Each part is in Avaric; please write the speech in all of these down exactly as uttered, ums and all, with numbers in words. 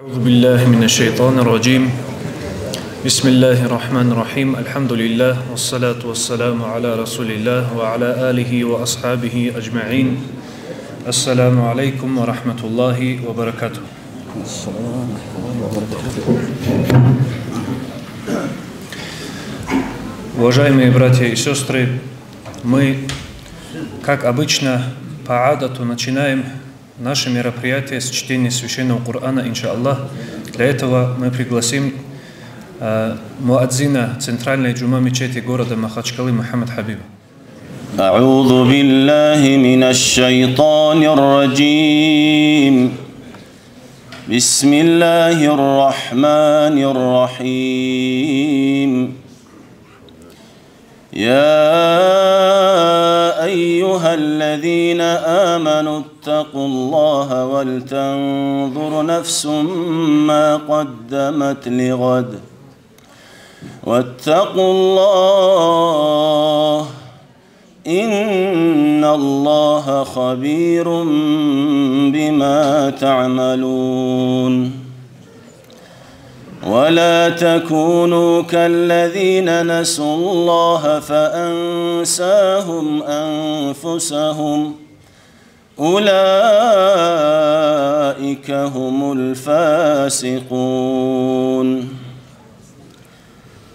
أعوذ بالله من الشيطان الرجيم. بسم الله الرحمن الرحيم. الحمد لله والصلاة والسلام على رسول الله وعلى آله وأصحابه أجمعين. السلام عليكم ورحمة الله وبركاته. Уважаемые братья и сестры, мы, как обычно, по адату начинаем наше мероприятие с чтения Священного Корана, иншааллах. Для этого мы пригласим, э, муадзина центральной джума мечети города Махачкалы Мухаммад Хабиба. أعوذ بالله من الشيطان الرجيم. بسم الله الرحمن الرحيم. يا أيها الذين آمنوا اتقوا الله ولتنظر نفس ما قدمت لغد واتقوا الله إن الله خبير بما تعملون. ولا تكونوا كالذين نسوا الله فأنساهم أنفسهم أولئك هم الفاسقون.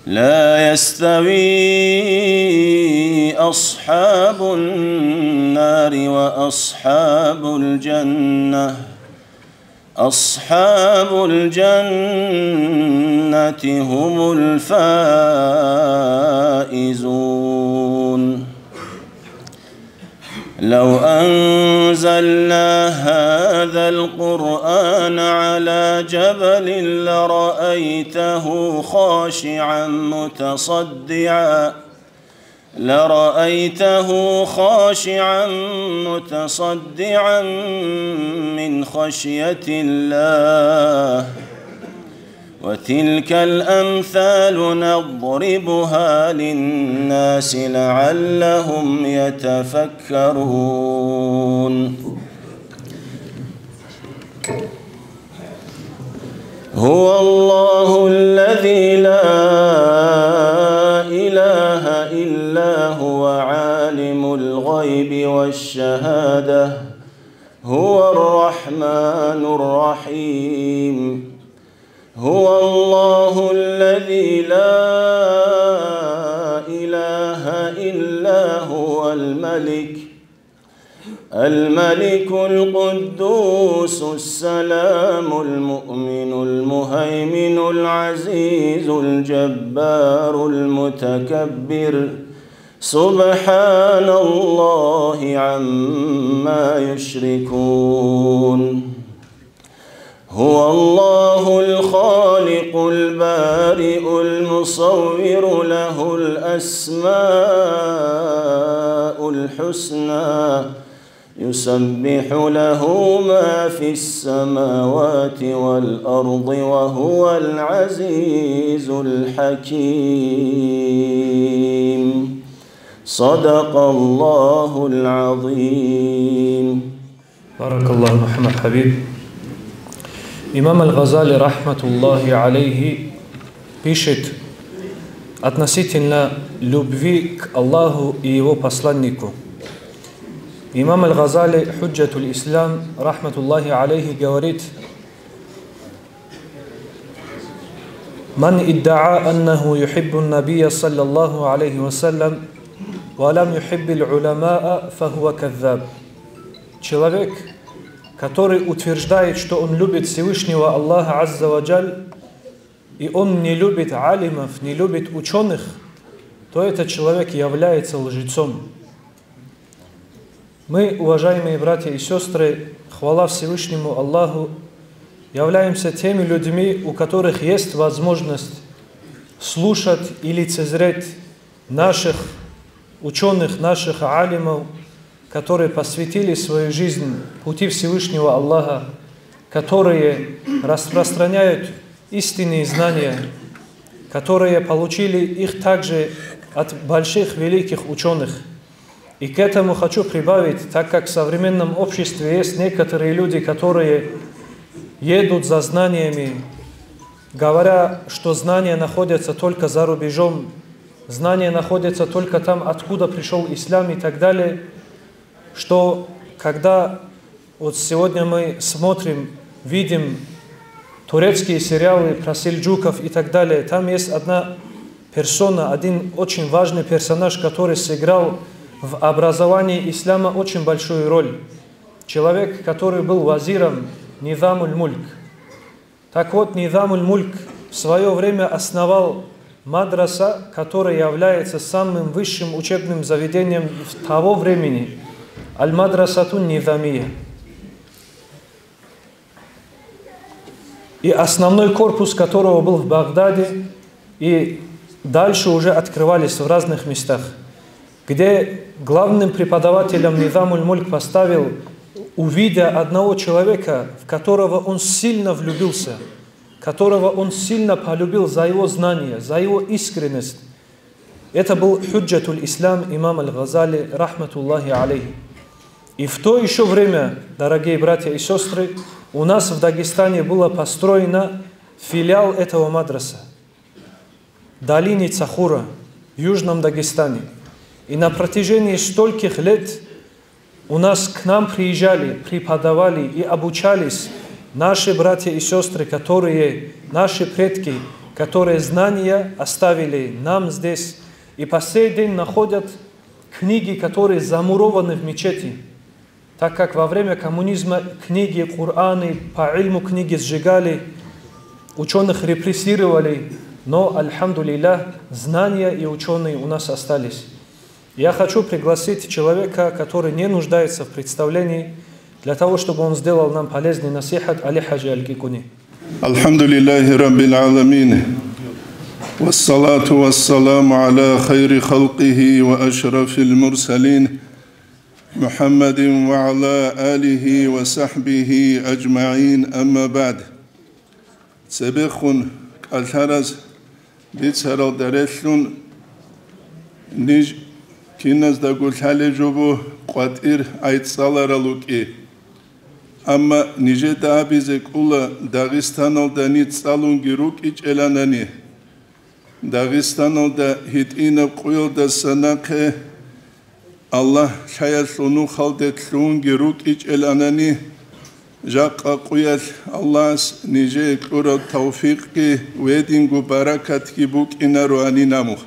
لا يستوي أصحاب النار وأصحاب الجنة أصحاب الجنة هم الفائزون. لو أنزلنا هذا القرآن على جبل لرأيته خاشعا متصدعا لرأيته خاشعا متصدعا من خشية الله. وتلك الأمثال نضربها للناس لعلهم يتفكرون. هو الله الذي لا إله إلا هو عالم الغيب والشهادة هو الرحمن الرحيم. هو الله الذي لا إله إلا هو الملك الملك القدوس السلام المؤمن المهيمن العزيز الجبار المتكبر سبحان الله عما يشركون. هو الله الخالق البارئ المصور له الأسماء الحسنى يسبح له ما في السماوات والأرض وهو العزيز الحكيم. صدق الله العظيم. Баракаллаху, Мухаммад Хабиб. Имам Аль-Газали, рахматуллахи алейхи, пишет относительно любви к Аллаху и Его посланнику. Имам Аль-Газали, Худжатуль Ислам, рахматуллахи алейхи, говорит: «Ман иддаа аннаху юхиббун набия саллаллаху алейхи ва саллям ва лам юхиббил уламаа, фахува каззаб». Человек, который утверждает, что он любит Всевышнего Аллаха Азза ва Джаль, и он не любит алимов, не любит ученых, то этот человек является лжецом. Мы, уважаемые братья и сестры, хвала Всевышнему Аллаху, являемся теми людьми, у которых есть возможность слушать и лицезреть наших ученых, наших алимов, которые посвятили свою жизнь пути Всевышнего Аллаха, которые распространяют истинные знания, которые получили их также от больших великих ученых. И к этому хочу прибавить, так как в современном обществе есть некоторые люди, которые едут за знаниями, говоря, что знания находятся только за рубежом, знания находятся только там, откуда пришёл ислам и так далее, что когда вот сегодня мы смотрим, видим турецкие сериалы про сельджуков и так далее, там есть одна персона, один очень важный персонаж, который сыграл в образовании ислама очень большую роль. Человек, который был вазиром Низамуль-Мульк. Так вот, Низамуль-Мульк в своё время основал мадраса, которая является самым высшим учебным заведением в того времени, Аль-Мадрасатун Низамия. И основной корпус которого был в Багдаде, и дальше уже открывались в разных местах, где главным преподавателем Низамуль-Мульк поставил, увидя одного человека, в которого он сильно влюбился, которого он сильно полюбил за его знания, за его искренность. Это был Худжатуль Ислам имам Аль-Газали, рахматуллахи алейхи. И в то ещё время, дорогие братья и сёстры, у нас в Дагестане было построено филиал этого мадраса, долине Цахура, в Южном Дагестане. И на протяжении стольких лет у нас к нам приезжали, преподавали и обучались наши братья и сёстры, которые, наши предки, которые знания оставили нам здесь и по сей день находят книги, которые замурованы в мечети, так как во время коммунизма книги, Кораны, по ильму книги сжигали, учёных репрессировали, но, альхамдулиллах, знания и учёные у нас остались. Я хочу пригласить человека, который не нуждается в представлении, для того, чтобы он сделал нам полезный насихат, Али Хаджи Аль-Кикуни. الحمد لله رب العالمين، والصلاة والسلام على خير خلقه وأشرف المرسلين، محمد وعلى آله وصحبه أجمعين، أما بعد. Цебехун кӀалъараз бицаралда релълъун, ниж киназдаго лъалеб жо буго къватӀир гӀайцӀаларал рукӀи. Амма нижеда абизе кӀола, Дагъистаналда ниж цӀалунги рукӀичӀеланани, Дагъистаналда гьитӀинаб къуялдаса нахъе Аллагь лъаялъул нухалде лъугьунги рукӀичӀеланани, жакъа къуялъ Аллагьас нижее кьураб тавфикъги ва гьединго баракатги букӀинароанин абун.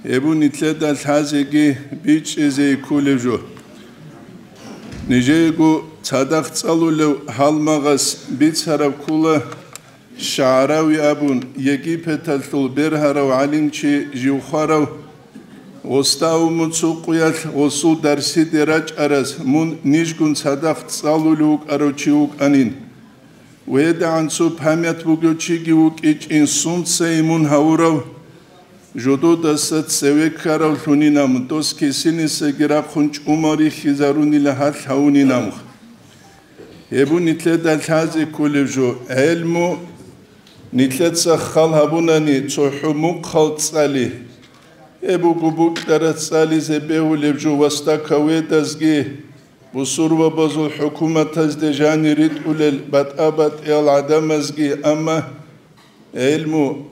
Гьеб нилъеда лъазеги бичӀчӀизе кколеб жо. Нижеего цадахъ цӀалулев гьалмагъас бицараб ккола, ШагӀрави абун, Египеталъул бергьарав гӀалимчи жив хварав, гъосда абун цо къуялъ гъосул дарсиде рачӀараз мун нижгун цадахъ цӀалулев вукӀарав чи вукӀанин. Ва гьедигӀан цо память бугев чиги вукӀичӀин, сунцайин мун гьавурав, жододаса цеве ккаравлъунин абун, дос кисинисаги рахъун чӀумал рихьизарунила гьалъ гьавунин абун. Гьеб нилъеда лъазе кколеб жо, гӀелму нилъеца хал гьабунани цохӀо мухъал цӀали. Гьеб буго букьараб цӀализе бегьулеб жо вастакаведазги, бусурбабазул хӀукуматазде жанир ритӀулел батӀа-батӀиял гӀадамазги, амма гӀелму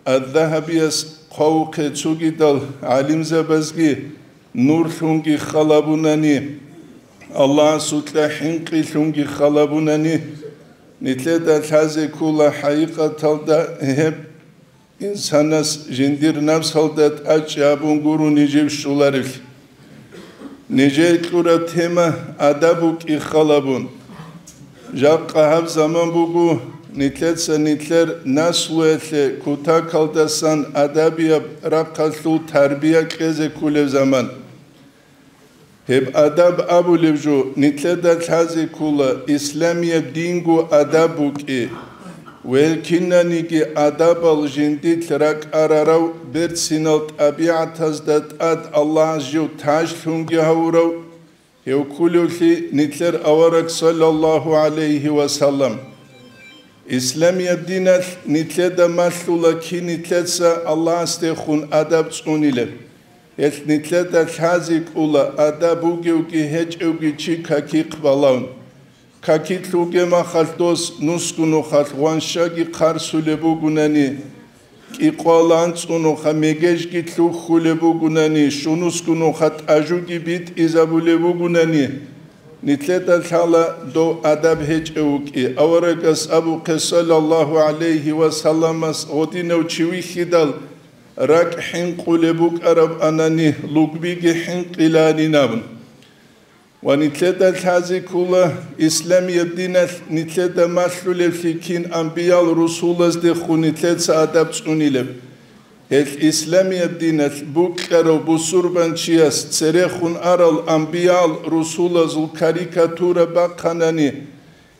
Ад-Дагьабияс хъвавухъе цогидал гӀалимзабазги нурлъунги халабунани, Аллагьасукьа хӀинкъилъунги халабунани, нилъеда лъазе ккола хӀакъикъаталда гьеб инсанас жиндир напсалда тӀачӀи абун гурони жив щоларелъи. Нижее кьураб тема адаб букӀи халабун. Жакъа гьаб заман буго, нилъеца нилъер наслуялъе кутакалдасан адабияб рахъалъул тарбия кьезе кколеб заман. Гьеб адаб абулеб жо нилъеда лъазе ккола, исламияб динго адаб букӀи. Ва гьел кинаниги адабал жиндилъ ракӀарарав, берцинал тӀабигӀатазда тӀад Аллагьас жив тажлъунги гьавурав, гьев кколевлъи нилъер авараг, саллаллагьу гӀалайгьи ва саллам. Исламияб диналъ нилъеда малъула кин нилъеца Аллагьасдехун адаб цӀунилеб. Гьелъ нилъеда лъазе ккола адаб бугевги гьечӀевги чи какихъ балагьун. Какилъ вугеб махалъ дос нусго нухалъ гъваншаги хъарсулеб бугунани, кӀикъвал анцӀго нуха мегежги лъухьулеб бугунани, щунусго нуха тӀажуги битӀизабулеб бугунани, нилъеда лъала дов адаб гьечӀев вукӀи. Аварагас абухъе, саллаллагьу гӀалайгьи ва салламас, гъодинав чи вихьидал, ракӀ хӀинкъулеб букӀараб анани, лугбиги хӀинкъиланин абун. Ва нилъеда лъазе ккола, исламияб диналъ нилъеда малъулевлъи кин амбиял-русулаздехун нилъеца адаб цӀунилеб. Гьелъ исламияб диналъ букьарав бусурбанчияс церехун арал амбиял-русулазул карикатура бахъанани,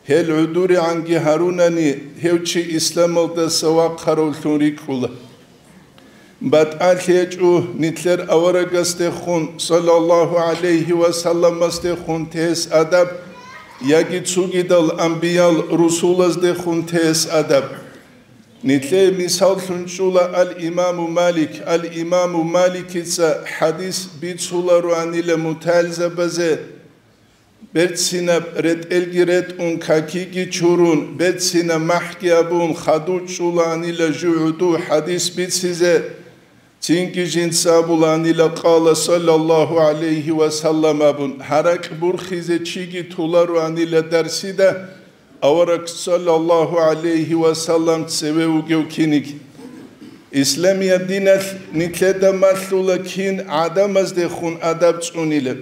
гьел гӀодорегӀанги гьарунани, гьев чи исламалдаса вахъаравлъун рикӀкӀула. БатӀалъи гьечӀо нилъер аварагасдехун, саллаллагьу гӀалайгьи ва салламасдехун, тес адаб, яги цогидал амбиял-русулаздехун тес адаб. Нилъее мисаллъун чӀола ал-Имаму Малик. Ал-Имаму Маликица хӀадис бицулароанила мутагӀилзабазе, берцинаб ретӀелги ретӀун, какиги чурун, берцинаб махӀги абун, хадув чӀулаанила жив гӀодов хӀадис бицизе, цинги жинца абулаанила, къала саллаллагьу гӀалайгьи ва саллам абун, гьаракь бурхизе чиги толароанила дарсида, авараг саллаллагьу гӀалайгьи ва саллам цеве вугев киниг. Исламияб диналъ нилъеда малъула кин гӀадамаздехун адаб цӀунилеб.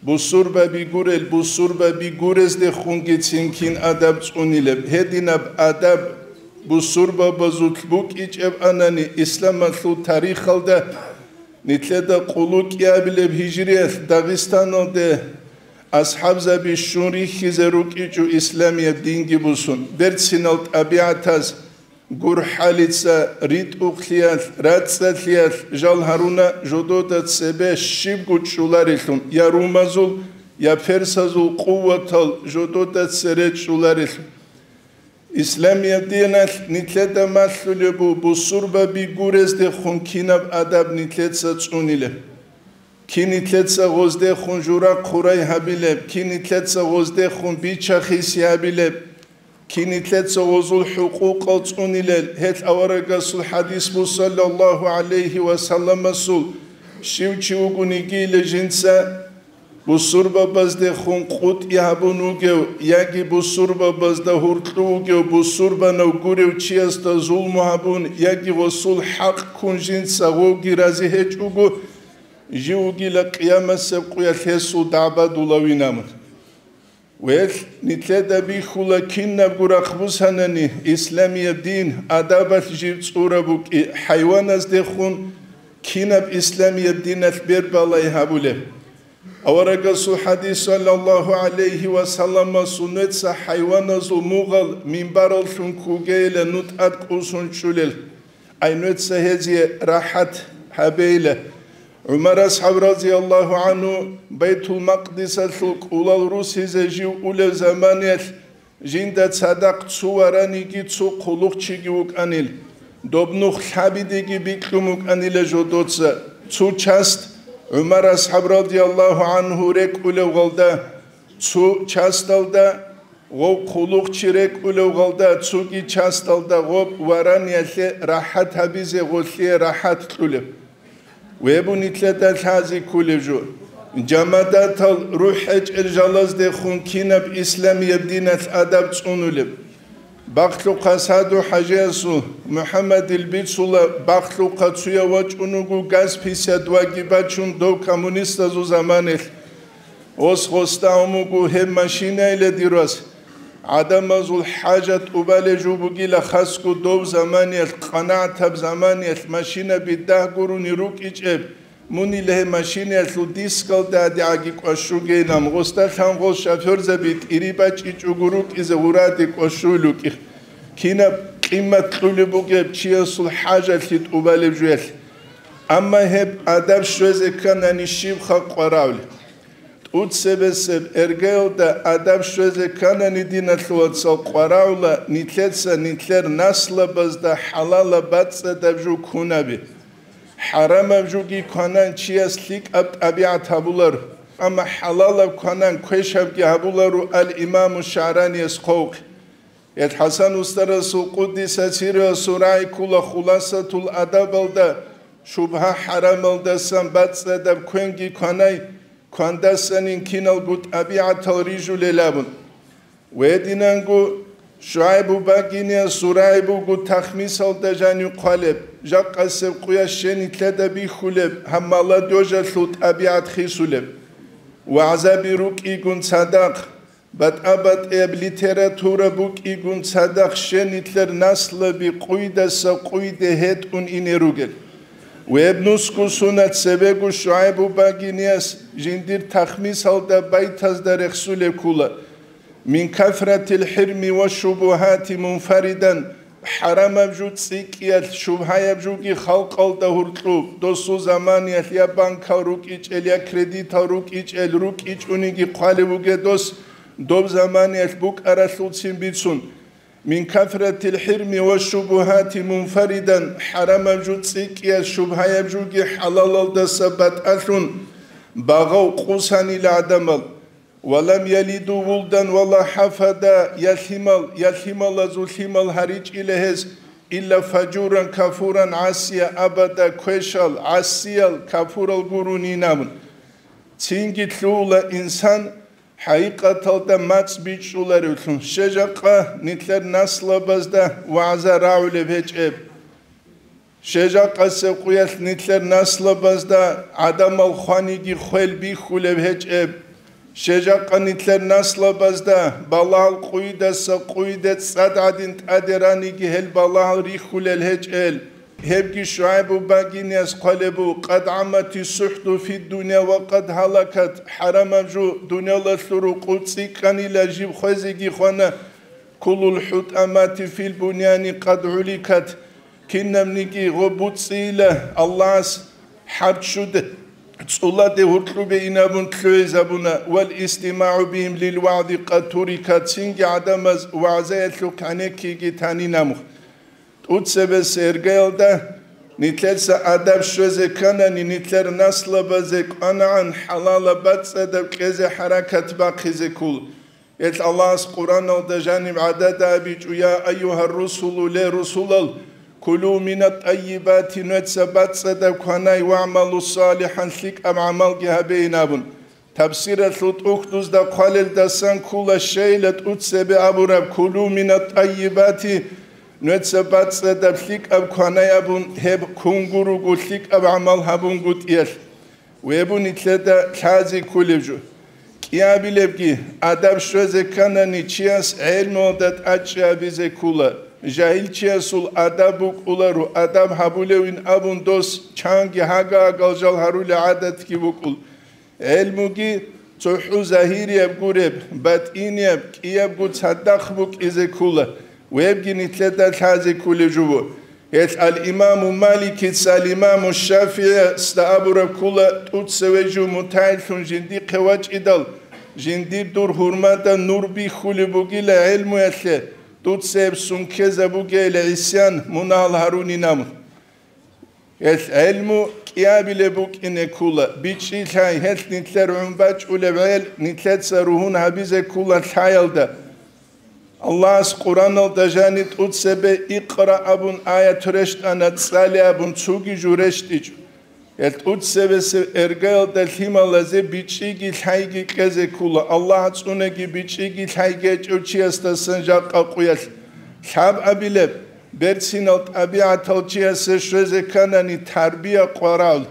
Бусурбаби гурел, бусурбаби гурездехунгицин кин адаб цӀунилеб. Гьединаб адаб бусурбабазулъ букӀичӀеб анани, исламалъул тарихалда нилъеда къуллукъ кӀиабилеб гьижриялъ Дагъистаналде асхӀабзаби щун рихьизе рукӀичӀо исламияб динги бусун. Берцинал тӀабигӀатаз, гурхӀалица, ритӀухълъиялъ, рацӀцӀалъиялъ жал гьаруна, жодода цебе щибго чӀоларелъун, я румазул, я персазул къуватал жодода цере чӀоларелъун. Исламияб диналъ нилъеда малъулеб бу-, бусурбаби гурездехун кинаб адаб нилъеца цӀунилеб. Кин нилъеца гъоздехун жура-хъурай гьабилеб, кин нилъеца гъоздехун бича-хиси гьабилеб, кин нилъеца гъозул хӀукъукъал цӀунилел, гьелъ аварагасул хӀадис буго, саллаллагьу гӀалайгьи ва салламасул, щив чи вугониги жинца бусурбабаздехун къутӀи гьабун вугев яги бусурбабазда гьуркьу вугев бусурбанав гурев чиясда зулму гьабун яги гъосул хӀакъ ккун жинца гъовги рази гьечӀого, жив вугила къиямасеб къуялъ гьесул дагӀба дулавин абун. Велъ, нилъеда бихьула, кинабго рахъ бусанани, исламияб дин адабалъ жив цӀураб букӀи, хӀайваназдехун кинаб исламияб диналъ бербалай гьабулеб. Аварагасул хӀадис, саллаллагьу гӀалайгьи ва салламасул, нуца хӀайваназул мугъал минбараллъун ккогейилан, ну тӀад кӀусун чӀулел. Ай, нуца гьезие рахӀат гьабейла. ГӀумар асхӀаб, разияллагьу гӀангьу, Байтул-Макъдисалъул кӀулал русизе жив улев заманиялъ, жинда цадахъ цо вараниги цо хъулухъчиги вукӀанил, доб нух лъабидеги бикьун букӀанила жодоца. Цо част ГӀумар асхӀаб, радияллагьу гӀангьу, рекӀулев гъалда, цо часталда гъов хъулухъчи рекӀулев гъалда, цоги часталда гъоб вараниялъе рахӀат гьабизе гъолъие рахӀат кьулеб. Вебу нилъеда лъазе кколеб жо. Жамадатал рухӀ гьечӀел жалаздехун кинаб исламияб диналъ адаб цӀунулеб? Бахълухъа Саду ХӀажиясул, МухӀаммадил бицула, бахълухъа цуяв вачӀун вуго газ пятьдесят два-ги бачун, дов коммунистазул заманаялъ. Ос гъосда гьумуго гьеб машинайила, дир вас. ГӀадамазул хӀажат тӀубалеб жо бугила, хасго дов заманиялъ, къанагӀатаб заманиялъ машинаби дагь гурони рукӀичӀеб, мунила гьеб машинаялъул дискалда гьадигӀаги кӀвашугейилан, гъосда лъан гъол шофёрзаби тӀири бачӀичӀого рукӀизе гъураде кӀвашуйил рукӀи. Кинаб къимат кьулеб бугеб чиясул хӀажалъи тӀубалеб жоялъ. Амма гьеб адаб щвезе кканани щибха къварагӀули? ТӀуцебесеб эргаялда адаб щвезе кканани, диналъул вацал, къварагӀула нилъеца нилъер наслабазда хӀалалаб бацӀцӀадаб жо ккунаби. ХӀарамаб жоги кванан чияс лъикӀаб тӀабигӀат гьабуларо. Амма хӀалалаб кванан квешабги гьабуларо ал-Имаму ШагӀранияс хъвавухъе. Гьел ХӀасан устарасул къуддиса сирругьу сурай ккола Хуласатул Адабалда, шубгьа-хӀарамалдасан бацӀцӀадаб квенги кванай, квандасанин киналго тӀабигӀатал рижулел абун. Гьединанго ШугӀайбу багиниялъ сурай буго тахмисалда жанив хъвалеб, жакъасеб къуялъ щенитлъада бихьулеб, гьаб молодёжалъул тӀабигӀат хисулеб. ВагӀзаби рукӀигун цадахъ, батӀа-батӀияб литература букӀигун цадахъ щенитлъер наслаби къуйдаса къуйде гьетӀун ине ругел. Гьеб нусго сунат цебего ШугӀайбу багиниялъ жиндир тахмисалда байтазда рехсулеб ккола. Мин кафратил хӀирми ва шубугьати мунфаридан, хӀарамаб жо цӀикӀкӀиялъ, шубгьаяб жоги халкъалда гьуркьуб, досул заманиялъ я банкал рукӀичӀел, я кредитал рукӀичӀел, рукӀичӀониги хъвалев вугев дос, доб заманиялъ букӀаралъулцин бицун. Мин кафратил хӀирми ва шубугьати мунфаридан, хӀарамаб жо цӀикӀкӀиялъ, шубгьаяб жоги хӀалалалдаса батӀалъун, багъав къусанила гӀадамал. Ва лам ялиду вулдан ва ла хӀафада, я лъимал, я лъималазул лъимал гьаричӀила гьез, илла фажуран кафуран гӀасия абада, квешал, гӀасиял, кафурал гурони абун. Цинги лъугьула инсан хӀакъикъаталда мацӀ бичӀчӀуларевлъун, щежакъа нилъер наслабазда вагӀза рагӀулеб гьечӀеб. Щежакъасеб къуялъ нилъер наслабазда гӀадамал хваниги хвел бихьулеб гьечӀеб. Щежакъа нилъер наслабазда балагьал къуйдаса къуйде цӀад гӀадин тӀаде раниги гьел балагьал рихьулел гьечӀел. Гьебги ШугӀайбу багиниялъ хъвалебу: «Къад гӀаммати сухӀду фид-дунья ва къад гьалакат», хӀарамаб жо дуниялалъул рукъу цӀикӀкӀанила жиб хвезеги хвана, «Куллул хӀутӀамати фил-буняни къад гӀуликат», кинабниги гъо буцӀцӀийила, Аллагьас хӀарччуде, цӀуладе гьуркьубе инабун лъугӀизабуна, «вал истимагӀу бигьим лил вагӀзи къад турикат», цинги гӀадамаз вагӀзаялъухъ гӀенеккиги танин амухъ. ТӀуцебесеб иргаялда нилъеца адаб щвезе кканани, нилъер наслабазе кӀванагӀан хӀалалаб бацӀцӀадаб кьезе хӀаракат бахъизе ккола. Гьелъ Аллагьас Къуръаналда жаниб гӀадада абичӀо: «Я айюгьар-русулу», ле русулал, «кулу минат-тӀайибати», нуца бацӀцӀадаб кванай, «вагӀмалу салихӀан», лъикӀаб гӀамалги гьабейин абун. Тафсиралъул тӀухьдузда хъвалелдасан ккола щайила тӀуцебе абураб: «Кулу минат-тӀайибати», нуца бацӀцӀадаб лъикӀаб кванай абун, гьеб ккун гуруго лъикӀаб гӀамал гьабунгутӀиялъ. Гьеб нилъеда лъазе кколеб жо. КӀиабилебги, адаб щвезе кканани, чияс гӀелмуялда тӀадчӀи гьабизе ккола. Жагьилчиясул адаб букӀуларо, адаб гьабулевин абун дос чанги гьага-гьагал жал гьарулел гӀадатги букӀул. ГӀелмуги цохӀо загьирияб гуреб, батӀинияб, кӀиябго цадахъ букӀизе ккола, гьебги нилъеда лъазе кколеб жо. Гьелъ ал-Имаму Маликица ал-Имаму ШафигӀица абураб ккола: тӀуцеве жив мутагӀиллъун жиндихъе вачӀидал, жиндир дур гьурмада нур бихьулеб бугила гӀелмуялъе, тӀуцеб сункезабугейила гӀисян, мунагьал гьарунин абун. Гьелъ гӀелму кӀиабилеб букӀине ккола, бичӀчӀи лъай, гьелъ нилъер гӀун бачӀулеб гӀел нилъеца ругьун гьабизе ккола лъаялда. Аллагьас Къуръаналда жани тӀуцебе «Икъра» абун аят рещтӀана, цӀале абун цоги жо рещтӀичӀо. Гьел тӀуцебесеб иргаялда лъималазе бичӀчӀиги лъайги кьезе ккола, Аллагь цӀунеги бичӀчӀиги лъайги гьечӀев чиясдасан жакъа къуялъ. Лъабабилеб, берцинал тӀабигӀатал чиясе щвезе кканани тарбия къварал.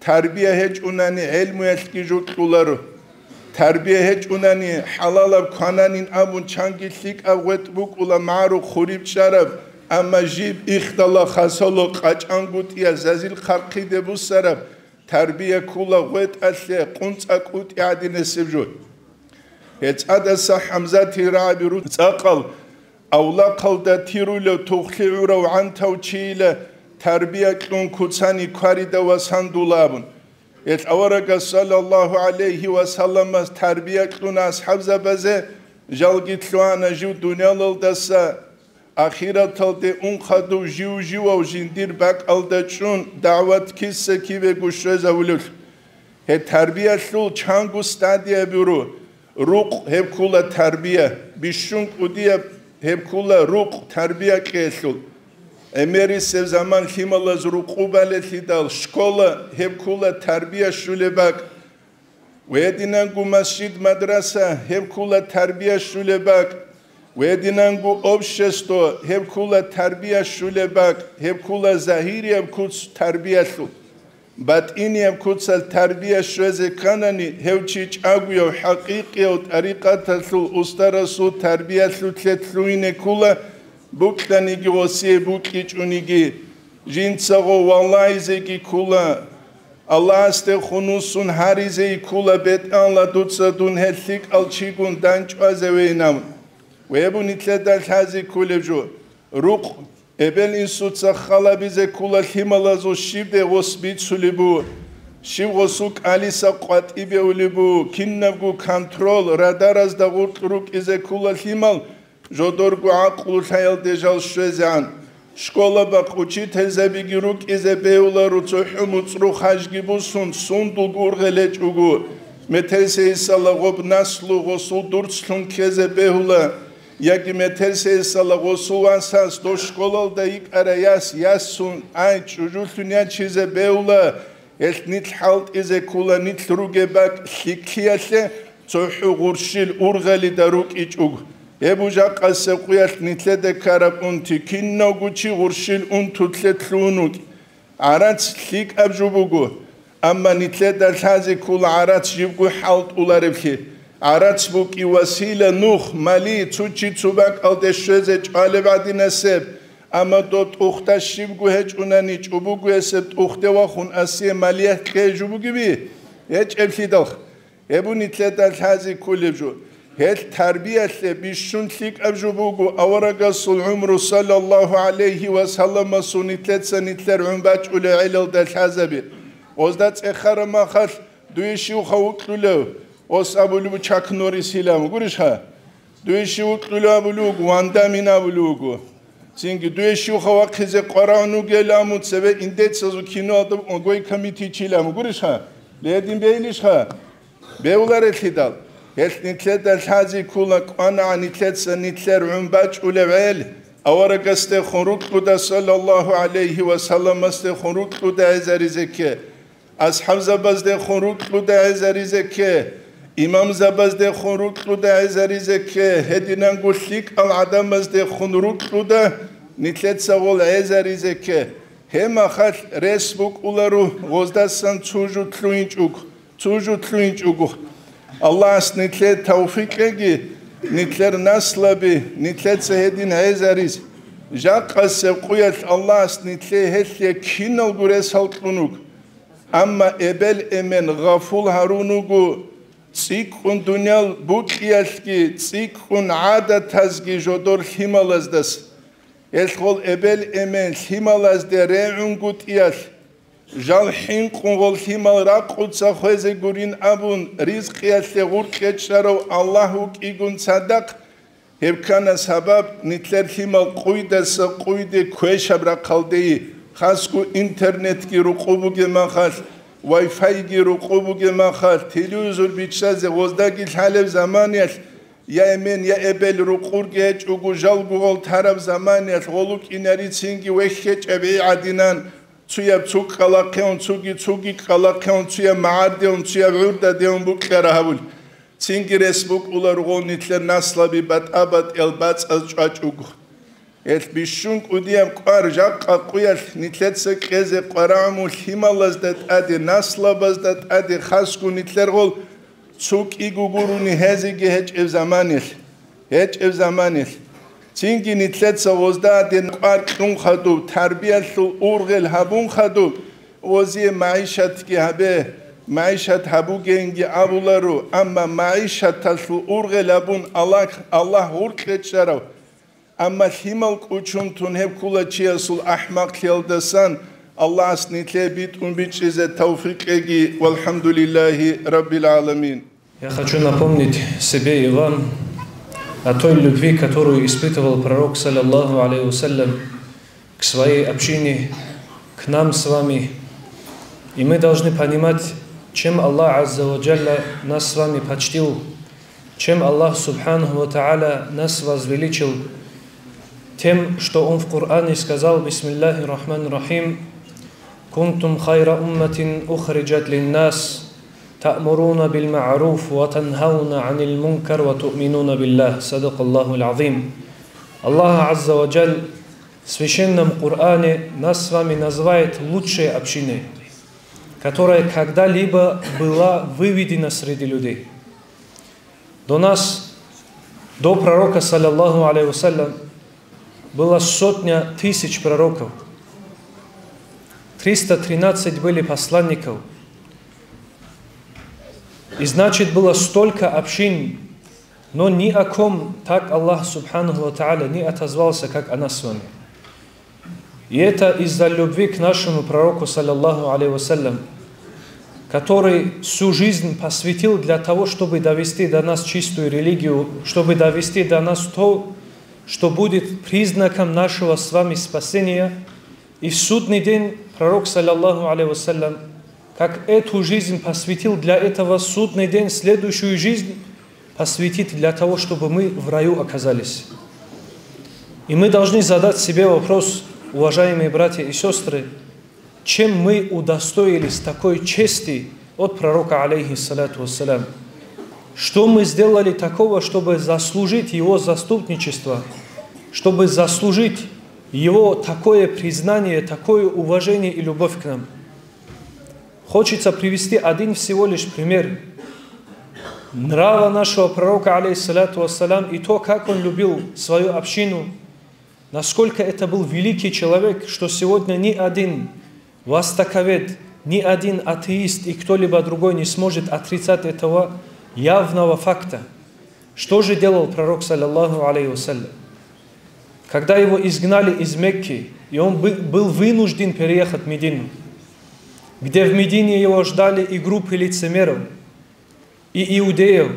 Тарбия гьечӀунани гӀелмуялъги жо кьоларо. Тарбия гьечӀунани хӀалалаб квананин абун чанги лъикӀаб гъветӀ букӀула, магӀарухъ хуриб чӀараб, амма жиб ихдала хасало къачӀангутӀиялъ зазил хъархъиде буссараб тарбия ккола гъветӀалъе, къунцӀа кӀутӀи гӀадинасеб жо. ГьецӀадаса ХӀамзатил рагӀаби руцӀахъал авлахъалда тирулев тухлъи гӀурав гӀантав чийила тарбия кьун куцани кварида ва сандула абун. Гьелъ аварагас саллаллагьу гӀалайгьи ва салламас тарбия кьуна асхӀабзабазе, жалги лъугьана жив дуниялалдаса, ахираталде ун хадув жив-живав жиндир бакӀалда чӀун дагӀват киса-кибего щвезавулев. Гьеб тарбиялъул чанго стадия буро. Рукъ гьеб ккула тарбия, бищун кӀудияб гьеб ккула рукъ тарбия кьеялъул. ГӀемерисеб заман лъималаз рукъу балелъидал, школа гьеб ккула тарбия щулеб бакӀ. Гьединанго масжид-мадраса гьеб ккула тарбия щулеб бакӀ. Гьединанго общество гьеб ккула тарбия щулеб бакӀ, гьеб ккула загьирияб куц тарбиялъул. БатӀинияб куцалъ тарбия щвезе кканани, гьев чи чӀагояв, хӀакъикъияв тӀарикъаталъул устарасул тарбиялъулъе лъугьине ккула, букьаниги гъосие букьичӀониги. Жинцаго валагьизеги ккула. Аллагьасде хунусун гьаризеги ккула, бетӀанла дуца дун гьел лъикӀал чигун дандчӀвазевейин абун. Гьеб нилъеда лъазе кколеб жо. Рукъ. Эбел-инсуца халабизе ккула лъималазул щиб де гъос бицулеб буго, щиб гъосул кӀалиса къватӀибе улеб буго, кинабго контрол, радаразда гъоркь рукӀизе ккула лъимал, жодорго гӀакълу лъаялде жал щвезегӀан. Школа бакъ учительзабиги рукӀизе бегьуларо, цохӀо муцӀру хажги бусун, сундулго ургъел гьечӀого, метерсейисала гъоб наслу гъосул дурцлъун ккезе бегьула. Яги метерсейисала гъосул васас дошколалда йикӀара яс, ясун, ай, чӀужулъун ячизе бегьула, гьелъ нилъ хӀалтӀизе ккула, нилъ ругеб бакӀ лъиккиялъе цохӀо гъурщил ургъелида рукӀичӀого. Гьеб жакъасеб къуялъ нилъеда ккараб унти, кинавго чи гъурщил унтулъе лъугьун вукӀ. ГӀарац лъикӀаб жо буго, амма нилъеда лъазе ккола гӀарац жибго хӀалтӀулареблъи. ГӀарац букӀи васила, нух, мали, цо чи цо бакӀалде щвезе чӀвалеб гӀадинасеб, амма доб тӀухда щибго гьечӀунани, чӀобого гьесеб тӀухде вахун асие малиялъ кье жо бугеби? ГьечӀеблъидал. Гьеб нилъеда лъазе кколеб жо. Гьелъ тарбиялъе бищун лъикӀаб жо буго аварагасул гӀумру, саллаллагьу гӀалайгьи ва салламасул, нилъеца нилъер гӀун бачӀулел гӀелалда лъазаби. Гъозда цӀехараб махалъ, дуе щивха вукьулев? Гъос абулеб буго Чак Норрис илан, гурищха? Дуе щив вукьулев абулеб буго, Ван Даммин абулеб буго. Цинги дуе щивха вахъизе къварагӀун вугел, амун цебе индецазул киноялда Огой Камитичил, амун гурищха? Ледин бейилищха? Бегьуларелъидал, гьелъ нилъеда лъазе ккола кӀванагӀан нилъеца нилъер гӀун бачӀулев гӀел, аварагасдехун рукьуда, саллаллагьу гӀалайгьи ва салламасдехун рукьуда гӀезаризе кке. АсхӀабзабаздехун рукьуда гӀезаризе кке, имамзабаздехун рукьуда гӀезаризе кке, гьединанго лъикӀал гӀадамаздехун рукьуда нилъеца гъол гӀезаризе кке. Гьеб махалъ рес букӀуларо гъоздасан цо жо лъугьинчӀого, цо жо лъугьинчӀого. Аллагьас нилъее тавфикъ кьеги, нилъер наслаби нилъеца гьедин гӀезариз. Жакъасеб къуялъ Аллагьас нилъее гьелъие киналго ресал кьун вуго. Амма эбел-эмен гъафул гьарун вуго, цӀикӀкӀун дуниял букьиялъги, цӀикӀкӀун гӀадатазги жодор лъималаздаса. Гьелъ гъол эбел-эмен лъималазде регӀунгутӀиялъ, жал хӀинкъун гъол лъимал ракъуца хвезе гурин абун, ризкъиялъе гъуркьечӀарав Аллагь вукӀигун цадахъ, гьеб ккана сабаб нилъер лъимал къуйдаса къуйде квешаб рахъалдейи, хасго интернетги рукъу бугеб махалъ, вай-файги рукъу бугеб махалъ, телевизор биччазе гъоздаги лъалеб заманиялъ, я эмен, я эбел рукъурги гьечӀого, жалго гъол тараб заманиялъ гъолукӀинари цинги вехьечӀеб гӀи гӀадинан, цуяб цу кӀкӀалахъеун, цуги цуги кӀкӀалахъеун, цуяб магӀардеун, цуяб гӀурдадеун букьара гьабул. Цинги рес букӀула ругъун нилъер наслаби батӀа-батӀиял бацӀаз чӀвачӀого. Гьелъ бищун кӀудияб кӀвар жакъа къуялъ нилъеца кьезе къварагӀуму лъималазда тӀаде, наслабазда тӀаде хасго нилъер гъол цо кӀиго гурони гьезеги гьечӀеб заманилъ, гьечӀеб заманилъ. Цинги нилъеца гъозда гьадин кӀвар кьун хадуб, тарбиялъул ургъел гьабун хадуб, гъозие магӀишатги гьабе, магӀишат гьабугейинги абуларо, амма магӀишаталъул ургъел гьабун Аллагь, Аллагь гъуркьечӀарав, амма лъимал кӀучун тун гьеб ккула чиясул ахӀмакълъиялдасан. Аллагьас нилъее битӀун бичӀчӀизе тавфикъ кьеги. ВалхӀамдулиллагьи раббил гӀаламин. Я хочу напомнить себе и вам о той любви, которую испытывал Пророк, саллаллаху алейхи вассалям, к своей общине, к нам с вами. И мы должны понимать, Чем Аллах Азза ва Джалла нас с вами почтил, чем Аллах Субханаху ва Тааля нас возвеличил, тем, что Он в Коране сказал: «Бисмиллахир Рахманир Рахим, кунтум хайра умматин ухриджат линнас, та'муруна бил ма'руф ва танхауна анил мункар ва ту'минуна биллах». Садакаллахул азим. Аллах Азза ва Джалла в Священном Коране нас с вами называет лучшей общиной, которая когда-либо была выведена среди людей. До нас, до пророка, саллаллаху алейхи ва саллям, была сотня тысяч пророков, триста тринадцать были посланников. И значит, было столько общин, но ни о ком так Аллах Субханаху ва Тааля не отозвался, как о нас с вами. И это из-за любви к нашему пророку, саллаллаху алейхи ва саллям, который всю жизнь посвятил для того, чтобы довести до нас чистую религию, чтобы довести до нас то, что будет признаком нашего с вами спасения. И в судный день пророк, саллаллаху алейхи ва саллям, как эту жизнь посвятил для этого, судный день, следующую жизнь посвятит для того, чтобы мы в раю оказались. И мы должны задать себе вопрос, уважаемые братья и сестры, чем мы удостоились такой чести от пророка, алейхиссалату вассалям? Что мы сделали такого, чтобы заслужить его заступничество, чтобы заслужить его такое признание, такое уважение и любовь к нам? Хочется привести один всего лишь пример нрава нашего пророка, алейхиссалату вассалям, и то, как он любил свою общину, насколько это был великий человек, что сегодня ни один востоковед, ни один атеист и кто-либо другой не сможет отрицать этого явного факта. Что же делал пророк, саллаллаху алейхи ва саллям? Когда его изгнали из Мекки, и он бы- был вынужден переехать в Медину, где в Медине его ждали и группы лицемеров, и иудеев,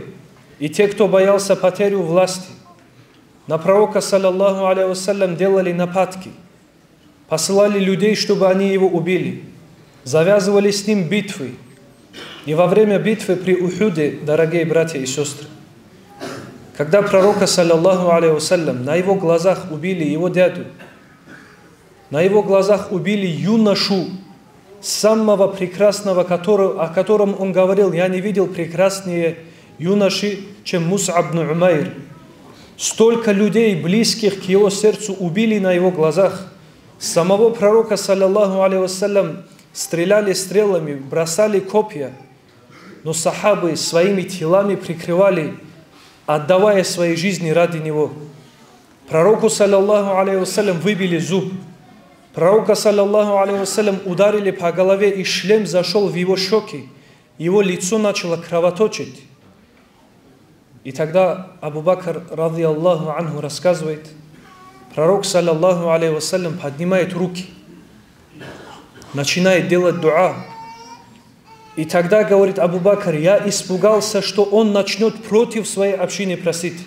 и те, кто боялся потерю власти, на пророка, саллаллаху алейхи ва саллям, делали нападки, посылали людей, чтобы они его убили, завязывали с ним битвы. И во время битвы при Ухуде, дорогие братья и сестры, когда пророка, саллаллаху алейхи ва саллям, на его глазах убили его дядю, на его глазах убили юношу, самого прекрасного, который- о котором он говорил: «Я не видел прекраснее юноши, чем Мус'аб бну Умайр». Столько людей, близких к его сердцу, убили на его глазах. Самого пророка, саллаллаху алейхи ва саллям, стреляли стрелами, бросали копья, но сахабы своими телами прикрывали, отдавая свои жизни ради него. Пророку, саллаллаху алейхи ва саллям, выбили зуб. Пророка, саллаллаху алейхи ва саллям, ударили по голове, и шлем зашел в его щеки, его лицо начало кровоточить. И тогда Абу Бакр, радияллаху анху, рассказывает, пророк, саллаллаху алейхи ва саллям, поднимает руки, начинает делать дуа. И тогда, говорит Абу Бакр, я испугался, что он начнет против своей общины просить,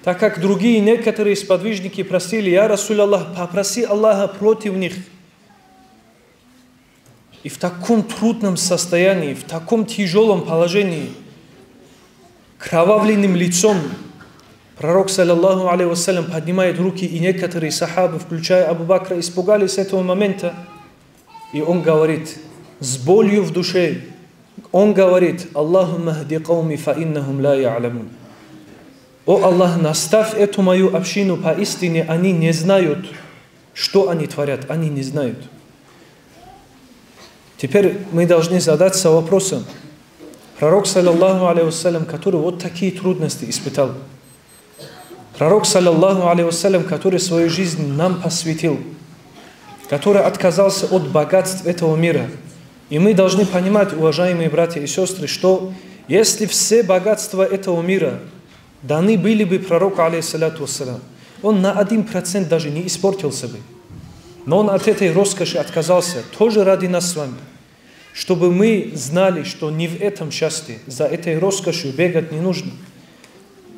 так как другие некоторые сподвижники просили: «Я Расул Аллах, попроси Аллаха против них». И в таком трудном состоянии, в таком тяжелом положении, кровавленным лицом, пророк, саллаллаху алейхи ва саллям, поднимает руки, и некоторые сахабы, включая Абу Бакра, испугались этого момента. И он говорит с болью в душе, он говорит: «Аллахумма хди кауми фа иннахум ла я'ламун». «О Аллах, наставь эту мою общину, поистине они не знают, что они творят, они не знают». Теперь мы должны задаться вопросом, пророк, саллаллаху алейхи ва саллям, который вот такие трудности испытал, пророк, саллаллаху алейхи ва саллям, который свою жизнь нам посвятил, который отказался от богатств этого мира. И мы должны понимать, уважаемые братья и сестры, что если все богатства этого мира даны были бы пророку, алейхиссалату вассалям, он на один процент даже не испортился бы. Но он от этой роскоши отказался, тоже ради нас с вами, чтобы мы знали, что не в этом счастье, за этой роскошью бегать не нужно.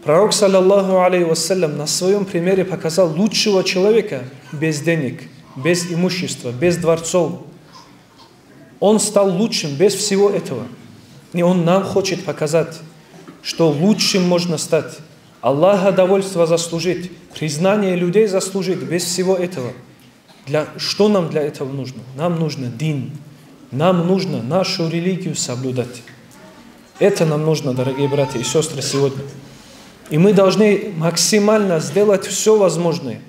Пророк, саллаллаху алейхи вассалям, на своем примере показал лучшего человека без денег, без имущества, без дворцов. Он стал лучшим без всего этого. И Он нам хочет показать, что лучшим можно стать, Аллаха довольства заслужить, признание людей заслужить без всего этого. Для, что нам для этого нужно? Нам нужно дин. Нам нужно нашу религию соблюдать. Это нам нужно, дорогие братья и сестры, сегодня. И мы должны максимально сделать все возможное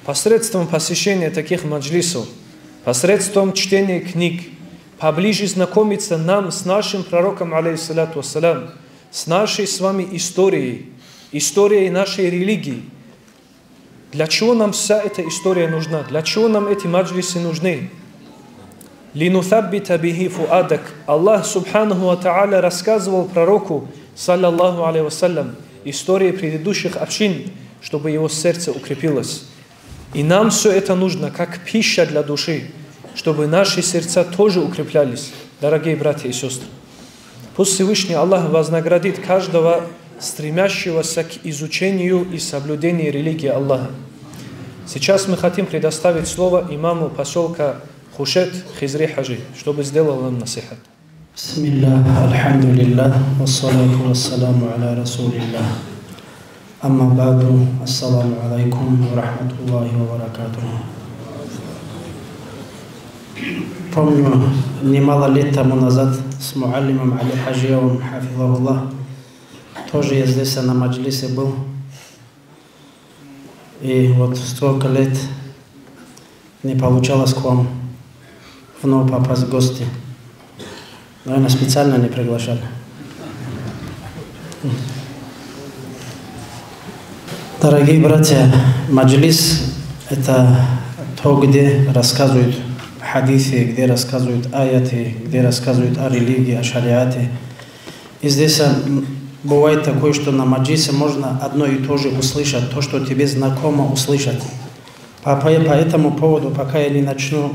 посредством посещения таких маджлисов, посредством чтения книг, поближе знакомиться нам с нашим пророком, алейхиссалату вассалям, с нашей с вами историей, историей нашей религии. Для чего нам вся эта история нужна? Для чего нам эти маджлисы нужны? «Линусаббита бихи фуадак». Аллах субханаху ва тааля рассказывал пророку, саллаллаху алейхи вассалям, истории предыдущих общин, чтобы его сердце укрепилось. И нам все это нужно как пища для души, чтобы наши сердца тоже укреплялись, дорогие братья и сестры. Пусть Всевышний Аллах вознаградит каждого стремящегося к изучению и соблюдению религии Аллаха. Сейчас мы хотим предоставить слово имаму поселка Хушет Хизри Хаджи, чтобы сделал нам насихат. بسم الله، الحمد لله، والصلاة والسلام على رسول الله. أما بعد، السلام عليكم ورحمة الله وبركاته. Помню, немало лет тому назад с муаллимом Али Хаджиевым, хафизахуллах, тоже я здесь на маджлисе был. И вот столько лет не получалось к вам вновь попасть в гости. Наверное, специально не приглашали. Дорогие братья, маджлис — это то, где рассказывают хадисы, где рассказывают аяты, где рассказывают о религии, о шариате. И здесь, м, бывает такое, что на маджлисе можно одно и то же услышать, то, что тебе знакомо услышать. По, по, по этому поводу, пока я не начну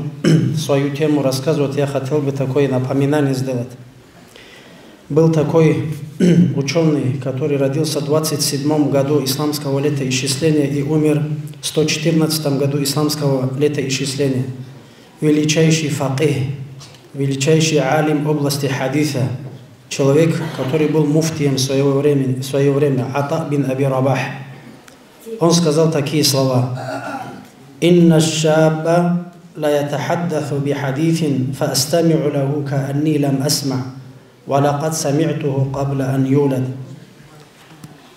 свою тему рассказывать, я хотел бы такое напоминание сделать. Был такой ученый, который родился в двадцать седьмом году исламского летоисчисления и умер в сто четырнадцатом году исламского летоисчисления. Величайший факих, величайший алим области хадиса, человек, который был муфтием своего времени, в свое время, Ата бин Аби Рабах. Он сказал такие слова: «Инна шабба ла ятахаддасу бихадисин, фа астами'у лаху каанни лам асма, ва лакад сами'туху кабла ан юлад».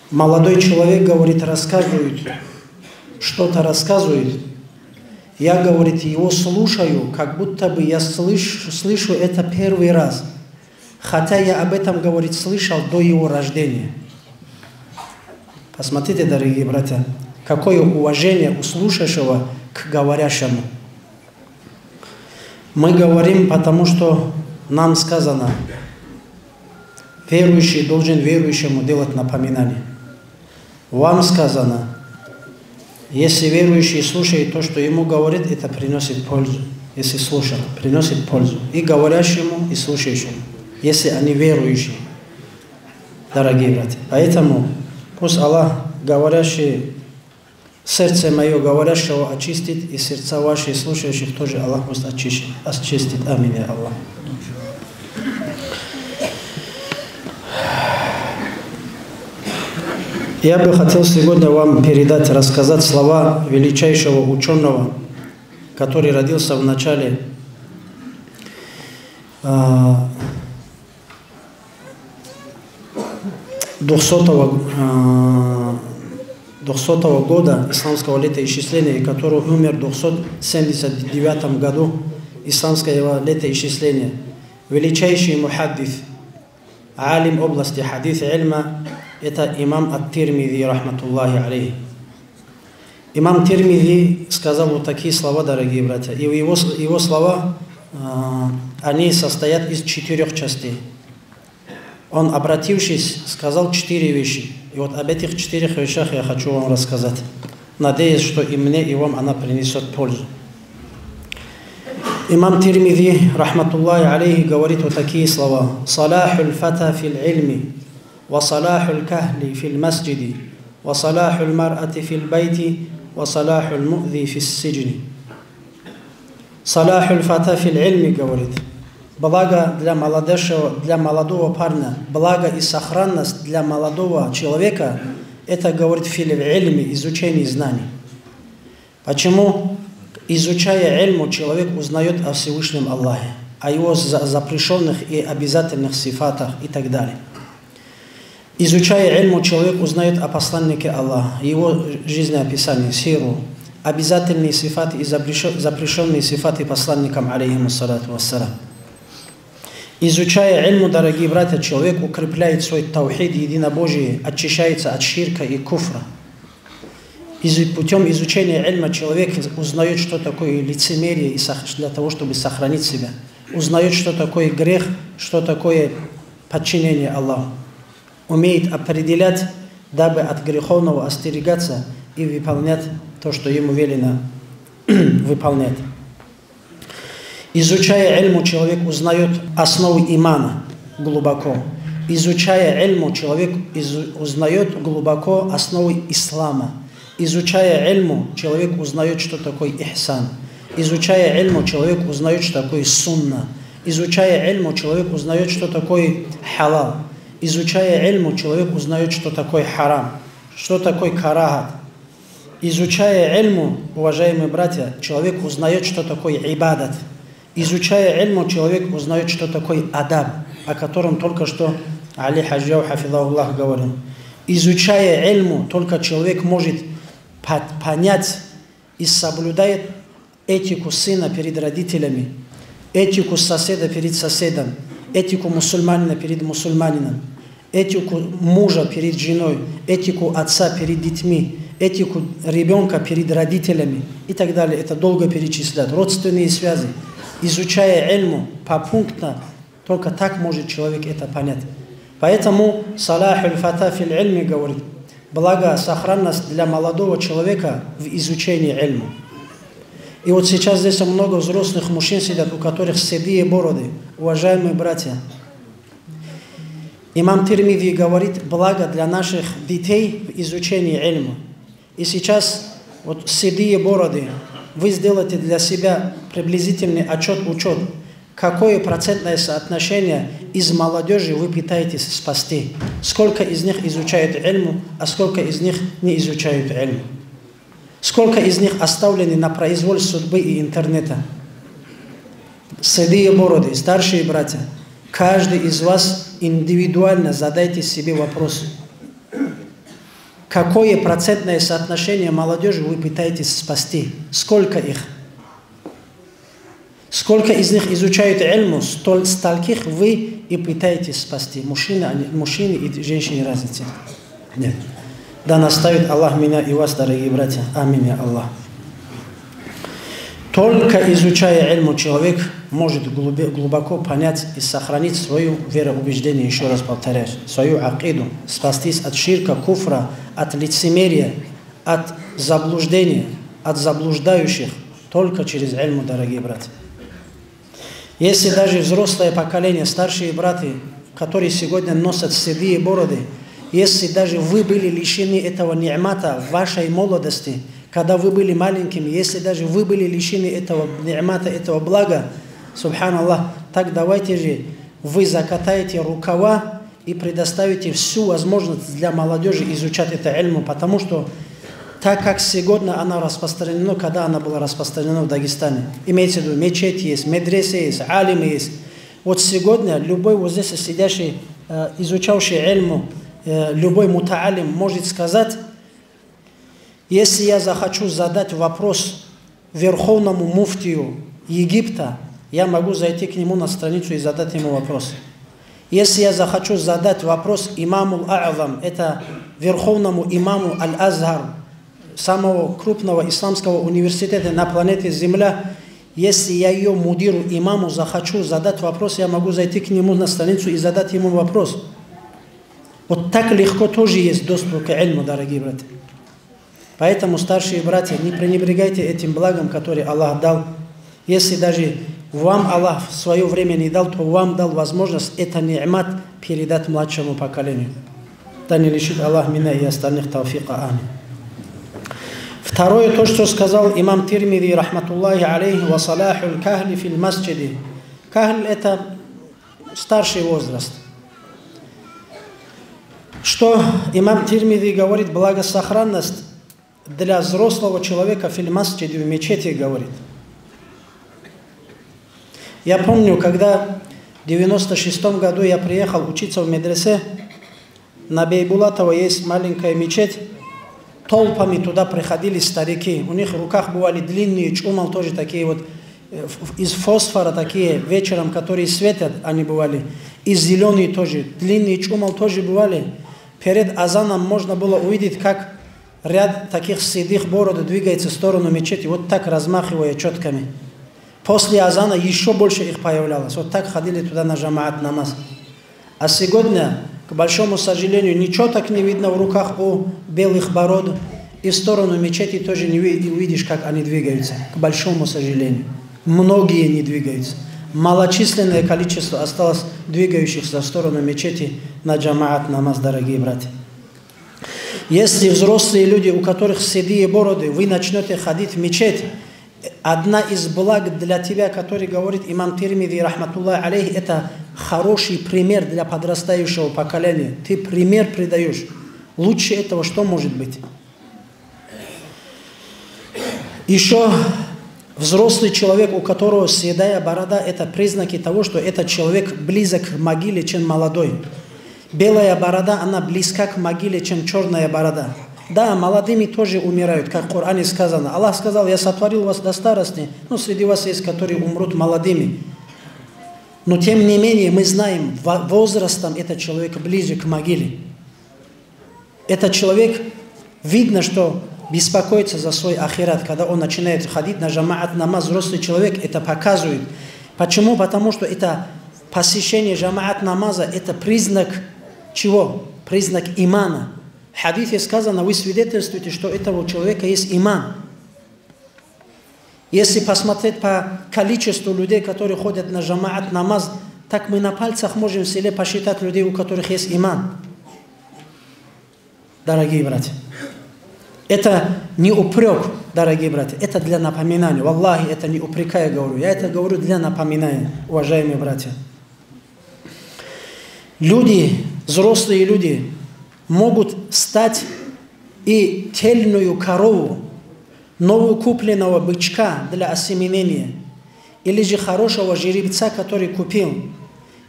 Молодой человек, говорит, рассказывает, что-то рассказывает. Я, говорит, его слушаю, как будто бы я слыш-, слышу это первый раз, хотя я об этом, говорит, слышал до его рождения. Посмотрите, дорогие братья, какое уважение у слушающего к говорящему. Мы говорим, потому что нам сказано: «Верующий должен верующему делать напоминание». Вам сказано: «Если верующий слушает то, что ему говорит, это приносит пользу». Если слушать, приносит пользу и говорящему, и слушающему, если они верующие, дорогие братья. Поэтому пусть Аллах, говорящий, сердце моё говорящего очистит, и сердца ваши слушающих тоже Аллах пусть очищет, очистит. Аминь, я Аллах. Я бы хотел сегодня вам передать, рассказать слова величайшего ученого, который родился в начале, а, двухсотого, а, двухсотого года исламского летоисчисления, и который умер в двухсот семьдесят девятом году исламского летоисчисления. Величайший мухаддис, алим области хадис, ильма, это имам Ат-Тирмизи, рахматуллахи алейхи. Имам Тирмизи сказал вот такие слова, дорогие братья. И его, его слова, а, они состоят из четырех частей. Он, обратившись, сказал четыре вещи. И вот об этих четырех вещах я хочу вам рассказать, надеясь, что и мне, и вам она принесет пользу. Имам Тирмизи, рахматуллахи алейхи, говорит вот такие слова: «Салахуль фата филь ильми, ва салахуль кахли филь масджиди, ва салахуль мар'ати филь байти, ва салахуль муъзи фис сиджни». «Салахуль фата филь ильми», говорит. Благо для молодежи, для молодого парня, благо и сохранность для молодого человека, это говорит фи ль-гӀилми, изучение знаний. Почему? Изучая гӀилму, человек узнает о Всевышнем Аллахе, о его за-, запрещённых и обязательных сифатах и так далее. Изучая гӀилму, человек узнает о посланнике Аллаха, его жизнеописание, сиру, обязательные сифаты и запрещё-, запрещённые сифаты посланникам, алейхимуссалату вассалам. Изучая гӀилму, дорогие братья, человек укрепляет свой таухид, единобожие, очищается от ширка и куфра. Из-, путём изучения гӀилма человек узнаёт, что такое лицемерие, и сох-, для того, чтобы сохранить себя. Узнаёт, что такое грех, что такое подчинение Аллаху. Умеет определять, дабы от греховного остерегаться и выполнять то, что ему велено выполнять. Изучая гӀилму, человек узнаёт основы имана глубоко. Изучая гӀилму, человек из-, узнаёт глубоко основы ислама. Изучая гӀилму, человек узнаёт, что такое ихсан. Изучая гӀилму, человек узнаёт, что такое сунна. Изучая гӀилму, человек узнаёт, что такое халал. Изучая гӀилму, человек узнаёт, что такое харам, что такое карагьат. Изучая гӀилму, уважаемые братья, человек узнаёт, что такое гӀибадат. Изучая гӀилму, человек узнаёт, что такое адаб, о котором только что Али Хаджияв, хафизахуллах, говорил. Изучая гӀилму, только человек может по-, понять и соблюдает этику сына перед родителями, этику соседа перед соседом, этику мусульманина перед мусульманином, этику мужа перед женой, этику отца перед детьми, этику ребёнка перед родителями и так далее. Это долго перечислять. Родственные связи. Изучая гӀилму попунктно, только так может человек это понять. Поэтому салахуль фата филь гӀилми говорит, благо сохранность для молодого человека в изучении гӀилму. И вот сейчас здесь много взрослых мужчин сидят, у которых седые бороды. Уважаемые братья, имам Тирмизи говорит, благо для наших детей в изучении гӀилму. И сейчас вот седые бороды, вы сделайте для себя приблизительный отчёт, учёт, какое процентное соотношение из молодёжи вы пытаетесь спасти. Сколько из них изучают гӀилму, а сколько из них не изучают гӀилму. Сколько из них оставлены на произвол судьбы и интернета. Седые бороды, старшие братья, каждый из вас индивидуально задайте себе вопрос. Какое процентное соотношение молодёжи вы пытаетесь спасти? Сколько их? Сколько из них изучают гӀилму, столь-, стольких вы и пытаетесь спасти. Мужчины, они, мужчины и женщины разницы нет. Да наставит Аллах меня и вас, дорогие братья. Амин, я Аллах. Только изучая гӀилму, человек может глубе-, глубоко понять и сохранить свою вероубеждение, ещё раз повторяюсь, свою акиду, спастись от ширка, куфра, от лицемерия, от заблуждения, от заблуждающих, только через гӀилму, дорогие братья. Если даже взрослое поколение, старшие братья, которые сегодня носят седые бороды, если даже вы были лишены этого ниъмата в вашей молодости, когда вы были маленькими, если даже вы были лишены этого ниъмата, этого блага, субханаллах, так давайте же вы закатаете рукава и предоставите всю возможность для молодёжи изучать это гӀилму, потому что так, как сегодня она распространена, когда она была распространена в Дагестане. Имеется в виду, мечети есть, медресе есть, алимы есть. Вот сегодня любой вот здесь сидящий, э, изучавший гӀилму, э, любой мутаалим может сказать, если я захочу задать вопрос верховному муфтию Египта, я могу зайти к нему на страницу и задать ему вопрос. Если я захочу задать вопрос имамул А'зам, это верховному имаму Аль-Азхар, самого крупного исламского университета на планете Земля, если я её мудиру, имаму захочу задать вопрос, я могу зайти к нему на страницу и задать ему вопрос. Вот так легко тоже есть доступ к гӀилму, дорогие братья. Поэтому, старшие братья, не пренебрегайте этим благом, которое Аллах дал. Если даже вам Аллах в своё время не дал, то вам дал возможность это ниъмат передать младшему поколению. Да не лишит Аллах меня и остальных тауфика. Амин. Второе, то, что сказал имам Тирмизи, рахматуллахи алейхи, ва салахуль кахли филь масджиди. Кагьл — это старший возраст. Что имам Тирмизи говорит, благосохранность для взрослого человека в фильмасчиде, в мечети, говорит. Я помню, когда в девяносто шестом году я приехал учиться в медресе, на Бейбулатова есть маленькая мечеть, толпами туда приходили старики. У них в руках бывали длинные чумал, тоже такие вот, э, ф-, из фосфора такие, вечером, которые светят, они бывали. И зеленые тоже, длинные чумал тоже бывали. Перед азаном можно было увидеть, как ряд таких седых бород двигается в сторону мечети, вот так размахивая четками. После азана еще больше их появлялось. Вот так ходили туда на жамаат намаз. А сегодня, к большому сожалению, ничего так не видно в руках у белых бород. И в сторону мечети тоже не ви-, не увидишь, как они двигаются. К большому сожалению. Многие не двигаются. Малочисленное количество осталось двигающихся в сторону мечети на жамаат намаз, дорогие братья. Если взрослые люди, у которых седые бороды, вы начнёте ходить в мечеть, одна из благ для тебя, который говорит имам Тирмизи, рахматуллахи алейхи, это хороший пример для подрастающего поколения. Ты пример придаёшь. Лучше этого что может быть? Ещё взрослый человек, у которого седая борода, это признаки того, что этот человек близок к могиле, чем молодой. Белая борода, она близка к могиле, чем чёрная борода. Да, молодыми тоже умирают, как в Коране сказано. Аллах сказал: «Я сотворил вас до старости», но среди вас есть, которые умрут молодыми. Но тем не менее, мы знаем, во-, возрастом этот человек ближе к могиле. Этот человек, видно, что беспокоится за свой ахират, когда он начинает ходить на жамаат намаз, взрослый человек это показывает. Почему? Потому что это посещение жамаат намаза, это признак чего? Признак имана. В хадисе сказано, вы свидетельствуете, что у этого человека есть иман. Если посмотреть по количеству людей, которые ходят на жамаат намаз, так мы на пальцах можем в селе посчитать людей, у которых есть иман. Дорогие братья, это не упрёк, дорогие братья, это для напоминания. Валлахи, это не упрекая говорю, я это говорю для напоминания, уважаемые братья. Люди, взрослые люди, могут стать и тельную корову, новокупленного бычка для осеменения, или же хорошего жеребца, который купил,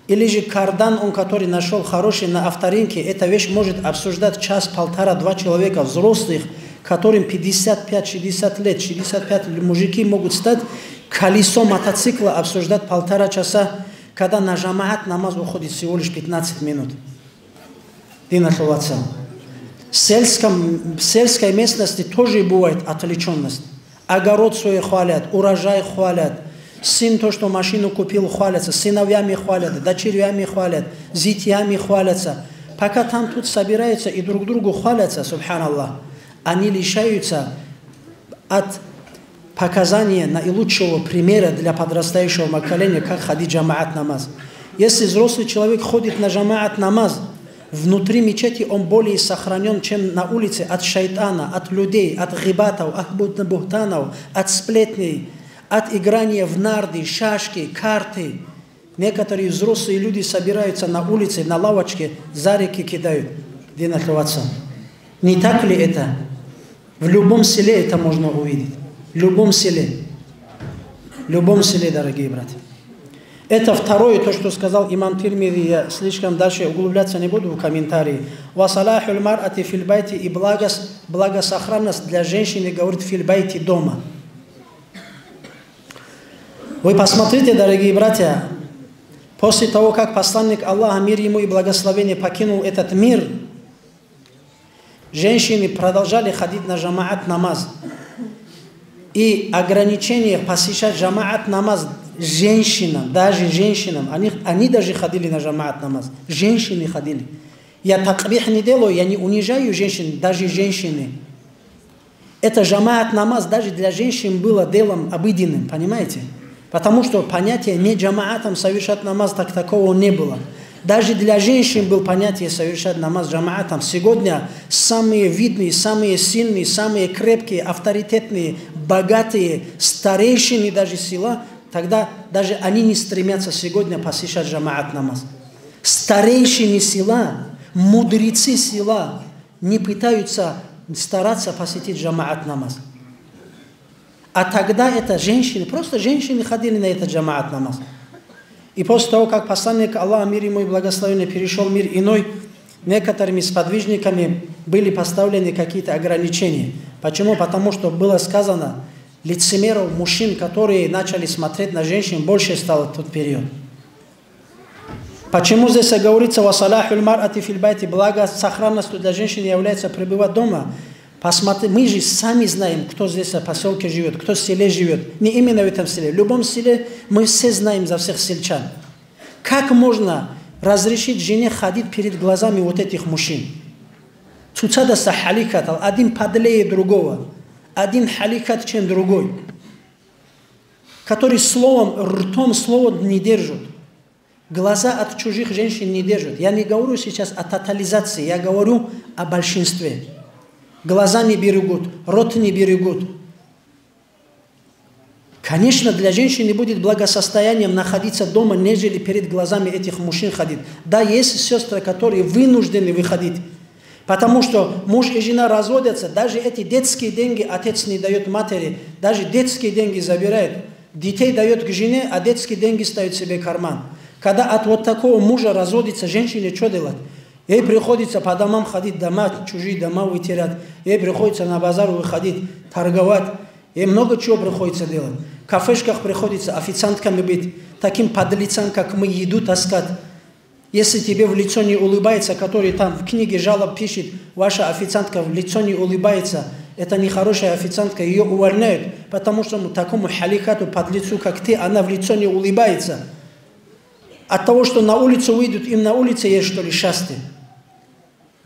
или же кардан, он который нашёл хороший на авторынке, эта вещь может обсуждать час, полтора, два человека взрослых, которым пятьдесят пять, шестьдесят лет, шестьдесят пять мужики могут стать, колесо мотоцикла обсуждать полтора часа, когда на жамаат намаз уходит всего лишь пятнадцать минут. Диналъул вацал. В сельском, в сельской местности тоже бывает отвлечённость. Огород свой хвалят, урожай хвалят, сын то, что машину купил, хвалятся, сыновьями хвалят, дочерьями хвалят, зятьями хвалятся. Пока там тут собираются и друг другу хвалятся, субханаллах, они лишаются от показания наилучшего примера для подрастающего поколения, как ходить жамаат намаз. Если взрослый человек ходит на жамаат намаз, внутри мечети он более сохранён, чем на улице, от шайтана, от людей, от гъибатов, от бух-, бухтанов, от сплетней, от играния в нарды, шашки, карты. Некоторые взрослые люди собираются на улице, на лавочке, зарики кидают. Диналъул вацал. Не так ли это? В любом селе это можно увидеть. В любом селе. В любом селе, дорогие братья. Это второе, то, что сказал имам Тирмизи, я слишком дальше углубляться не буду в комментарии. «Ва салахуль мар'ати филь байти», и благос-, благосохранность для женщины, говорит, «филь байти», дома. Вы посмотрите, дорогие братья, после того, как посланник Аллаха, мир ему и благословение, покинул этот мир, женщины продолжали ходить на жамаат намаз. И ограничение посещать жамаат намаз женщинам, даже женщинам, они, они даже ходили на жамаат намаз, женщины ходили. Я такбих не делаю, я не унижаю женщин, даже женщины. Это жамаат намаз даже для женщин было делом обыденным, понимаете? Потому что понятие не жамаатом совершать намаз так такого не было. Даже для женщин был понятие совершать намаз жамаатом. Сегодня самые видные, самые сильные, самые крепкие, авторитетные, богатые старейшины даже села Тогда даже они не стремятся сегодня посещать жамаат намаз. Старейшины села, мудрецы села не пытаются стараться посетить жамаат намаз. А тогда это женщины, просто женщины ходили на этот жамаат намаз. И после того, как посланник Аллаха, мир ему и благословение, перешел в мир иной, некоторыми сподвижниками были поставлены какие-то ограничения. Почему? Потому что было сказано, лицемеров, мужчин, которые начали смотреть на женщин, больше стало в тот период. Почему здесь говорится «ва салахуль мар'ати филь байти», благо сохранностью для женщины является пребывать дома? Посмотри, мы же сами знаем, кто здесь в поселке живет, кто в селе живет. Не именно в этом селе, в любом селе мы все знаем за всех сельчан. Как можно разрешить жене ходить перед глазами вот этих мужчин? Цоцадаса хӀалихьатал, один подлее другого, один хӀалихьат, чем другой, который словом, ртом слово не держит. Глаза от чужих женщин не держат. Я не говорю сейчас о тотализации, я говорю о большинстве. Глаза не берегут, рот не берегут. Конечно, для женщины будет благосостоянием находиться дома, нежели перед глазами этих мужчин ходить. Да, есть сестры, которые вынуждены выходить. Потому что муж и жена разводятся, даже эти детские деньги отец не дает матери, даже детские деньги забирает. Детей дает к жене, а детские деньги ставит себе в карман. Когда от вот такого мужа разводится женщине, что делать? Ей приходится по домам ходить, дома, чужие дома вытирать. Ей приходится на базар выходить, торговать. Ей много чего приходится делать. В кафешках приходится официантками быть, таким подлецам, как мы, еду таскать. Если тебе в лицо не улыбается, который там в книге жалоб пишет, ваша официантка в лицо не улыбается, это нехорошая официантка, ее увольняют, потому что такому халикату, подлецу, как ты, она в лицо не улыбается. От того, что на улицу выйдут, им на улице есть, что ли, счастье?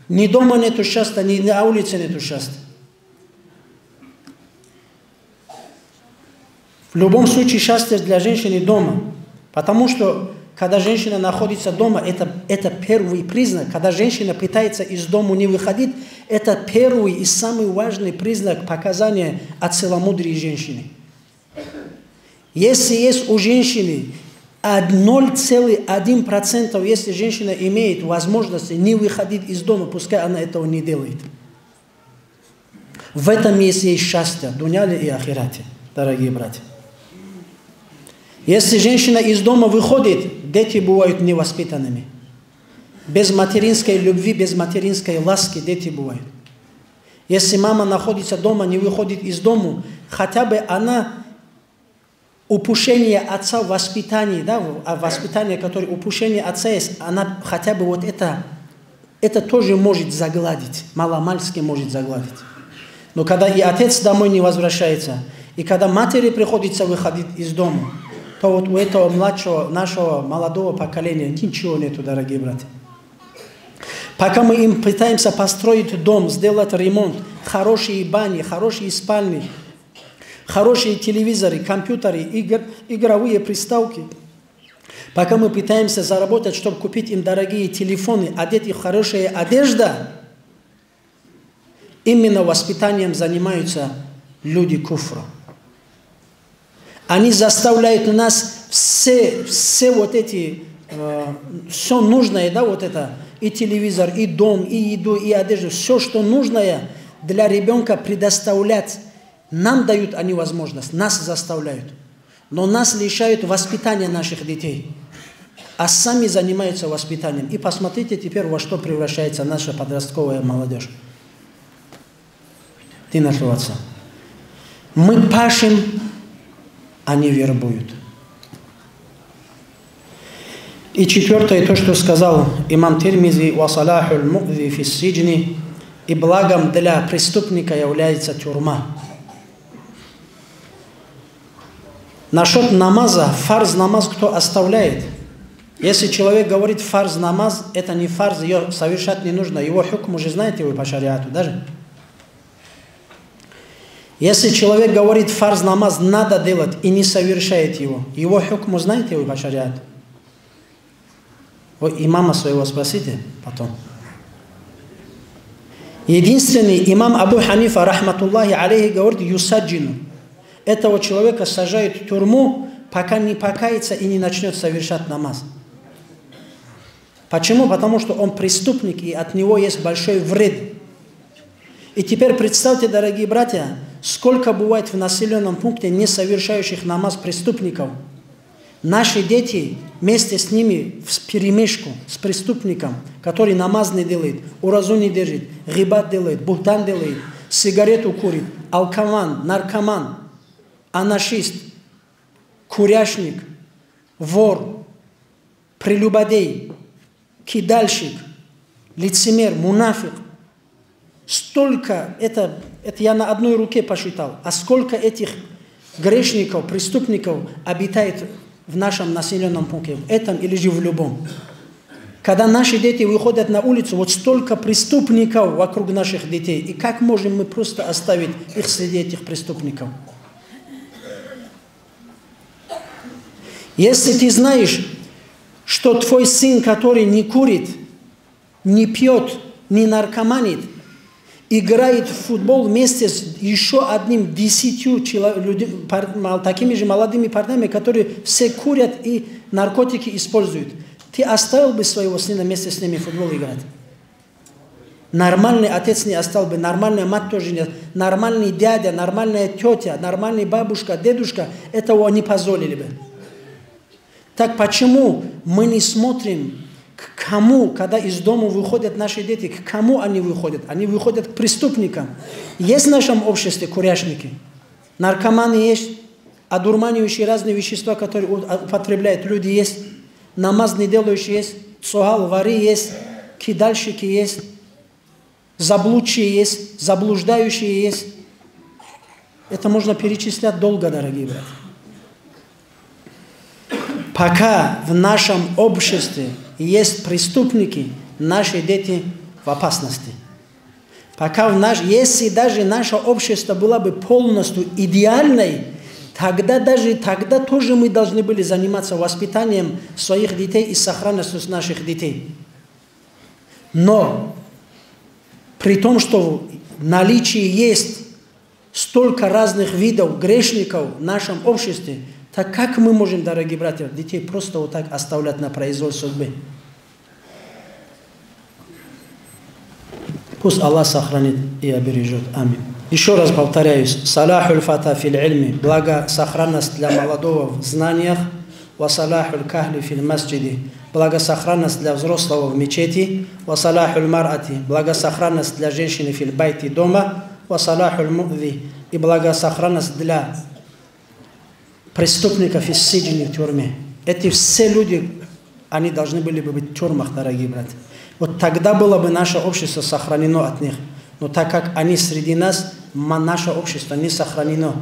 Ни дома нету счастья, ни на улице нету счастья. В любом случае счастье для женщины дома. Потому что, когда женщина находится дома, это, это первый признак. Когда женщина пытается из дому не выходить, это первый и самый важный признак показания о целомудрии женщины. Если есть у женщины од-, ноль целых один процент, если женщина имеет возможность не выходить из дома, пускай она этого не делает. В этом есть ей счастье, в дуняле и ахирате, дорогие братья. Если женщина из дома выходит, дети бывают невоспитанными. Без материнской любви, без материнской ласки дети бывают. Если мама находится дома, не выходит из дому, хотя бы она упущение отца в воспитании, да, в-, а воспитание, которое упущение отца есть, она хотя бы вот это, это тоже может загладить, маломальски может загладить. Но когда и отец домой не возвращается, и когда матери приходится выходить из дома, то вот у этого младшего, нашего молодого поколения ничего нету, дорогие братья. Пока мы им пытаемся построить дом, сделать ремонт, хорошие бани, хорошие спальни, хорошие телевизоры, компьютеры, игр-, игровые приставки. Пока мы пытаемся заработать, чтобы купить им дорогие телефоны, одеть их в хорошая одежда, именно воспитанием занимаются люди куфра. Они заставляют нас все, все вот эти, э, все нужное, да, вот это, и телевизор, и дом, и еду, и одежду, все, что нужное для ребенка предоставлять. Нам дают они возможность, нас заставляют. Но нас лишают воспитания наших детей. А сами занимаются воспитанием. И посмотрите теперь, во что превращается наша подростковая молодежь. Ты нашел отца. Мы пашем, они вербуют. И четвёртое, то, что сказал имам Тирмизи: «Ва салахуль муъзи фис сиджни», и благом для преступника является тюрьма. Насчет намаза, фарз намаз кто оставляет? Если человек говорит: «Фарз намаз, это не фарз, её совершать не нужно», его хукм уже знаете вы по шариату, даже? Если человек говорит: «Фарз намаз надо делать», и не совершает его, его хукму знаете вы по шариату? Вы имама своего спросите потом. Единственный имам Абу Ханифа, рахматуллахи алейхи, говорит: «Юсаджину». Этого человека сажают в тюрьму, пока не покается и не начнет совершать намаз. Почему? Потому что он преступник, и от него есть большой вред. И теперь представьте, дорогие братья, сколько бывает в населенном пункте не совершающих намаз преступников. Наши дети вместе с ними вперемешку, с преступником, который намаз не делает, уразу не держит, гъибат делает, бухтан делает, сигарету курит, алкоман, наркоман, анашист, курящник, вор, прелюбодей, кидальщик, лицемер, мунафикъ. Столько, это, это я на одной руке посчитал, а сколько этих грешников, преступников обитает в нашем населенном пункте, в этом или же в любом. Когда наши дети выходят на улицу, вот столько преступников вокруг наших детей, и как можем мы просто оставить их среди этих преступников? Если ты знаешь, что твой сын, который не курит, не пьет, не наркоманит, играет в футбол вместе с еще одним десятью чело- люди- пар- мал- такими же молодыми парнями, которые все курят и наркотики используют, ты оставил бы своего сына вместе с ними в футбол играть? Нормальный отец не оставил бы, нормальная мать тоже не, нормальный дядя, нормальная тетя, нормальный бабушка, дедушка этого не позволили бы. Так почему мы не смотрим, к кому, когда из дома выходят наши дети, к кому они выходят? Они выходят к преступникам. Есть в нашем обществе курящники? Наркоманы есть, одурманивающие разные вещества, которые у- а- употребляют люди, есть. Намаз не делающие есть, цогьал вари есть, кидальщики есть, заблудшие есть, заблуждающие есть. Это можно перечислять долго, дорогие братья. Пока в нашем обществе есть преступники, наши дети в опасности. Пока в наш, если даже наше общество было бы полностью идеальной, тогда даже тогда тоже мы должны были заниматься воспитанием своих детей и сохранностью наших детей. Но при том, что в наличии есть столько разных видов грешников в нашем обществе, так как мы можем, дорогие братья, детей просто вот так оставлять на произвол судьбы? Пусть Аллах сохранит и обережет. Амин. Еще раз повторяюсь, салахуль фата фил ильми, благосохранность для молодого в знаниях, ва салахуль кахли фил масджиди, благосохранность для взрослого в мечети, ва салахуль марати, благосохранность для женщины фил байти дома, ва салахуль муъзи, и благосохранность для преступников из сиджни в тюрьме. Эти все люди, они должны были бы быть в тюрьмах, дорогие братья. Вот тогда было бы наше общество сохранено от них. Но так как они среди нас, ма- наше общество не сохранено.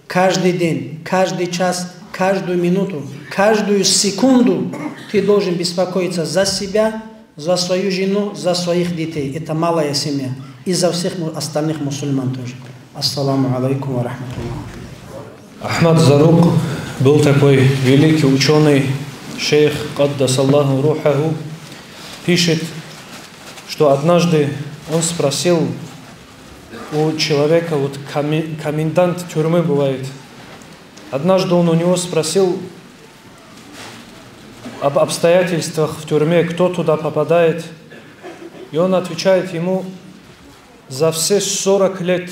Каждый день, каждый час, каждую минуту, каждую секунду ты должен беспокоиться за себя, за свою жену, за своих детей. Это малая семья. И за всех му- остальных мусульман тоже. Ассаламу алейкум ва рахматуллах. Ахмад Зарук был такой великий ученый, шейх, каддасаллаху рухаху, пишет, что однажды он спросил у человека, вот коми- комендант тюрьмы бывает, однажды он у него спросил об обстоятельствах в тюрьме, кто туда попадает, и он отвечает ему: «За все сорок лет,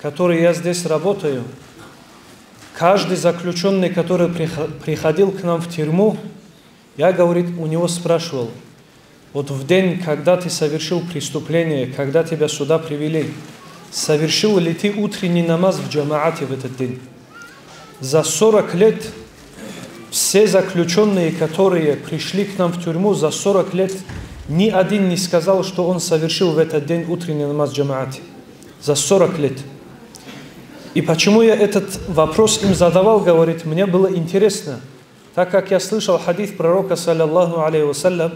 которые я здесь работаю, каждый заключенный, который прихо- приходил к нам в тюрьму, я, говорит, у него спрашивал: вот в день, когда ты совершил преступление, когда тебя сюда привели, совершил ли ты утренний намаз в джамаате в этот день?» За сорок лет все заключенные, которые пришли к нам в тюрьму, за сорок лет ни один не сказал, что он совершил в этот день утренний намаз в джамаате. За сорок лет. И почему я этот вопрос им задавал, говорит, мне было интересно, так как я слышал хадис пророка, саллаллаху алейхи ва саллям: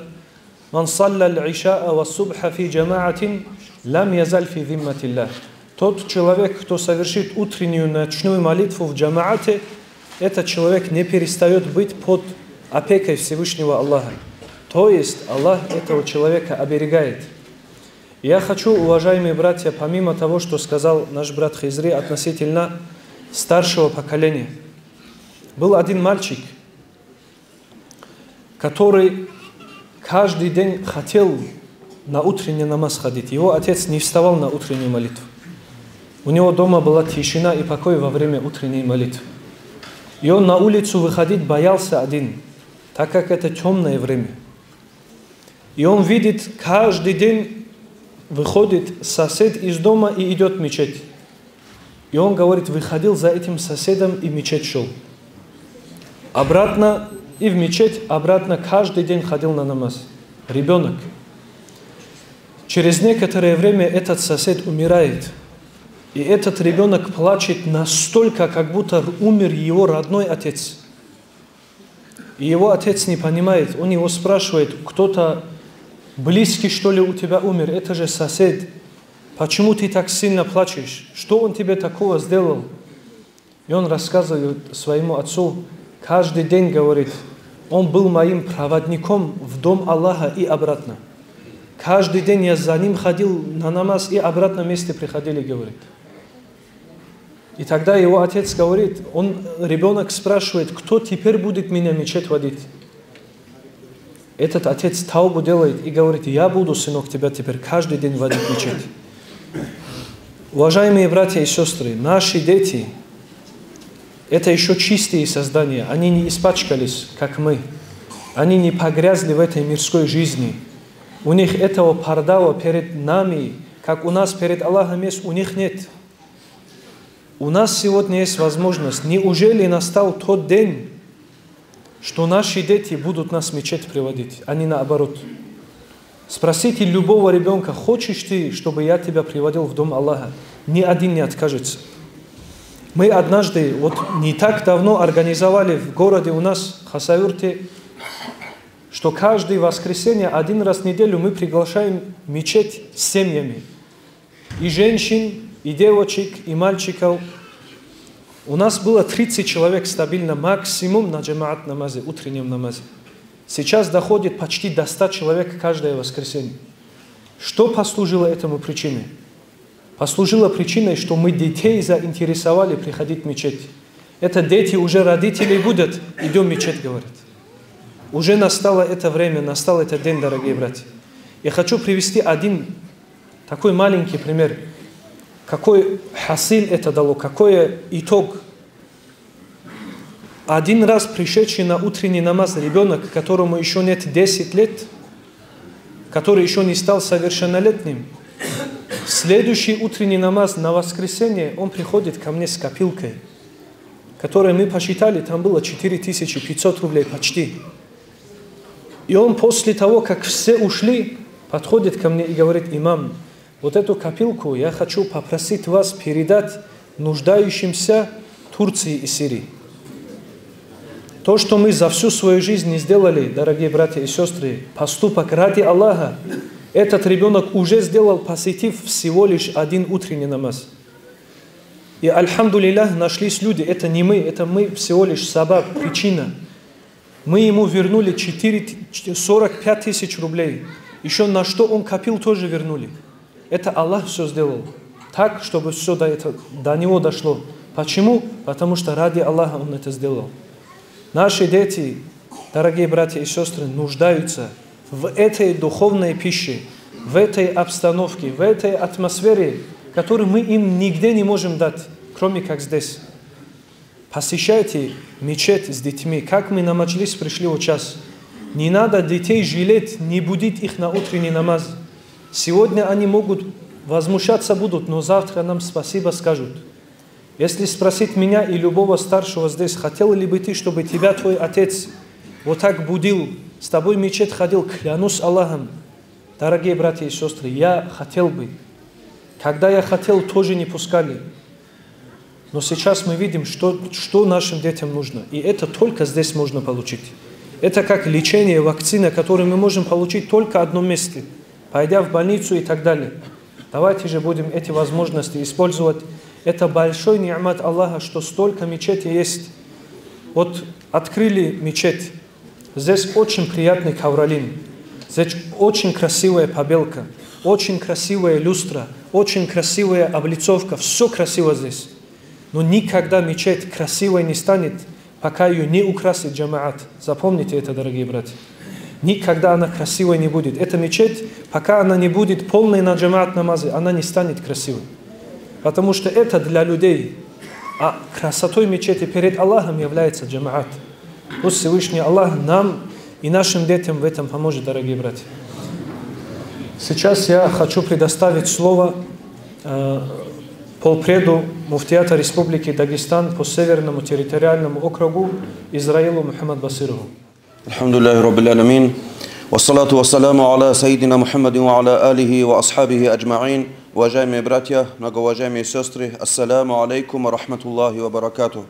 «Ман салла аль-ишаа ва субха фи джамаатин, лам язаль фи зимматиллах». Тот человек, кто совершит утреннюю ночную молитву в джамаате, этот человек не перестает быть под опекой Всевышнего Аллаха. То есть Аллах этого человека оберегает. Я хочу, уважаемые братья, помимо того, что сказал наш брат Хизри относительно старшего поколения, Был один мальчик, который каждый день хотел на утренний намаз ходить. Его отец не вставал на утреннюю молитву. У него дома была тишина и покой во время утренней молитвы. И он на улицу выходить боялся один, так как это темное время. И он видит, каждый день выходит сосед из дома и идет в мечеть. И он, говорит, выходил за этим соседом и в мечеть шел. Обратно и в мечеть, обратно каждый день ходил на намаз. Ребенок. Через некоторое время этот сосед умирает. И этот ребенок плачет настолько, как будто умер его родной отец. И его отец не понимает, он его спрашивает: «Кто-то близкий, что ли, у тебя умер? Это же сосед. Почему ты так сильно плачешь? Что он тебе такого сделал?» И он рассказывает своему отцу, каждый день, говорит, он был моим проводником в дом Аллаха и обратно. Каждый день я за ним ходил на намаз и обратно вместе приходили, говорит. И тогда его отец говорит, он, ребенок спрашивает: «Кто теперь будет меня в мечеть водить?» Этот отец таубу делает и говорит: «Я буду, сынок, тебя теперь каждый день водить в мечеть». Уважаемые братья и сестры, наши дети — это еще чистые создания, они не испачкались, как мы. Они не погрязли в этой мирской жизни. У них этого пардава перед нами, как у нас перед Аллахом есть, у них нет. У нас сегодня есть возможность. Неужели настал тот день, что наши дети будут нас в мечеть приводить, а не наоборот? Спросите любого ребенка: «Хочешь ты, чтобы я тебя приводил в дом Аллаха?» Ни один не откажется. Мы однажды, вот не так давно, организовали в городе у нас, Хасавюрте, что каждое воскресенье один раз в неделю мы приглашаем в мечеть с семьями. И женщин, и девочек, и мальчиков. У нас было тридцать человек стабильно, максимум на джамаат намазе, утреннем намазе. Сейчас доходит почти до ста человек каждое воскресенье. Что послужило этому причиной? Послужило причиной, что мы детей заинтересовали приходить в мечеть. Это дети уже родителей будут: «Идем в мечеть», говорят. Уже настало это время, настал этот день, дорогие братья. Я хочу привести один такой маленький пример. Какой хасил это дало, какой итог. Один раз пришедший на утренний намаз ребенок, которому еще нет десять лет, который еще не стал совершеннолетним, следующий утренний намаз на воскресенье он приходит ко мне с копилкой, которую мы посчитали, там было четыре тысячи пятьсот рублей почти. И он после того, как все ушли, подходит ко мне и говорит: «Имам, вот эту копилку я хочу попросить вас передать нуждающимся Турции и Сирии». То, что мы за всю свою жизнь не сделали, дорогие братья и сестры, поступок ради Аллаха, этот ребенок уже сделал, посетив всего лишь один утренний намаз. И, альхамдулиллах, нашлись люди, это не мы, это мы всего лишь сабаб, причина. Мы ему вернули четыре, сорок пять тысяч рублей. Еще на что он копил, тоже вернули. Это Аллах все сделал так, чтобы все до, это, до него дошло. Почему? Потому что ради Аллаха он это сделал. Наши дети, дорогие братья и сестры, нуждаются в этой духовной пище, в этой обстановке, в этой атмосфере, которую мы им нигде не можем дать, кроме как здесь. Посещайте мечеть с детьми. Как мы на маджлис пришли вот час. Не надо детей жалеть, не будить их на утренний намаз. Сегодня они могут возмущаться будут, но завтра нам спасибо скажут. Если спросить меня и любого старшего здесь, хотел ли бы ты, чтобы тебя твой отец вот так будил, с тобой в мечеть ходил, клянусь Аллахом, дорогие братья и сестры, я хотел бы. Когда я хотел, тоже не пускали. Но сейчас мы видим, что, что нашим детям нужно. И это только здесь можно получить. Это как лечение, вакцина, которую мы можем получить только в одном месте, пойдя в больницу и так далее. Давайте же будем эти возможности использовать. Это большой ни'мат Аллаха, что столько мечети есть. Вот открыли мечеть. Здесь очень приятный ковролин. Здесь очень красивая побелка, очень красивая люстра, очень красивая облицовка. Все красиво здесь. Но никогда мечеть красивой не станет, Пока ее не украсит джамаат, запомните это, дорогие братья. Никогда она красивой не будет. Эта мечеть, пока она не будет полной на джамаат намазы, она не станет красивой. Потому что это для людей. А красотой мечети перед Аллахом является джамаат. Пусть Всевышний Аллах нам и нашим детям в этом поможет, дорогие братья. Сейчас я хочу предоставить слово э, полпреду муфтията Республики Дагестан по Северному территориальному округу Израилу Мухаммад Басырову. الحمد لله رب العالمين. والصلاة والسلام على سيدنا محمد وعلى آله وأصحابه أجمعين. Уважаемые братья, многоуважаемые сестры, ассаламу алейкум ва рахматуллахи ва баракатух.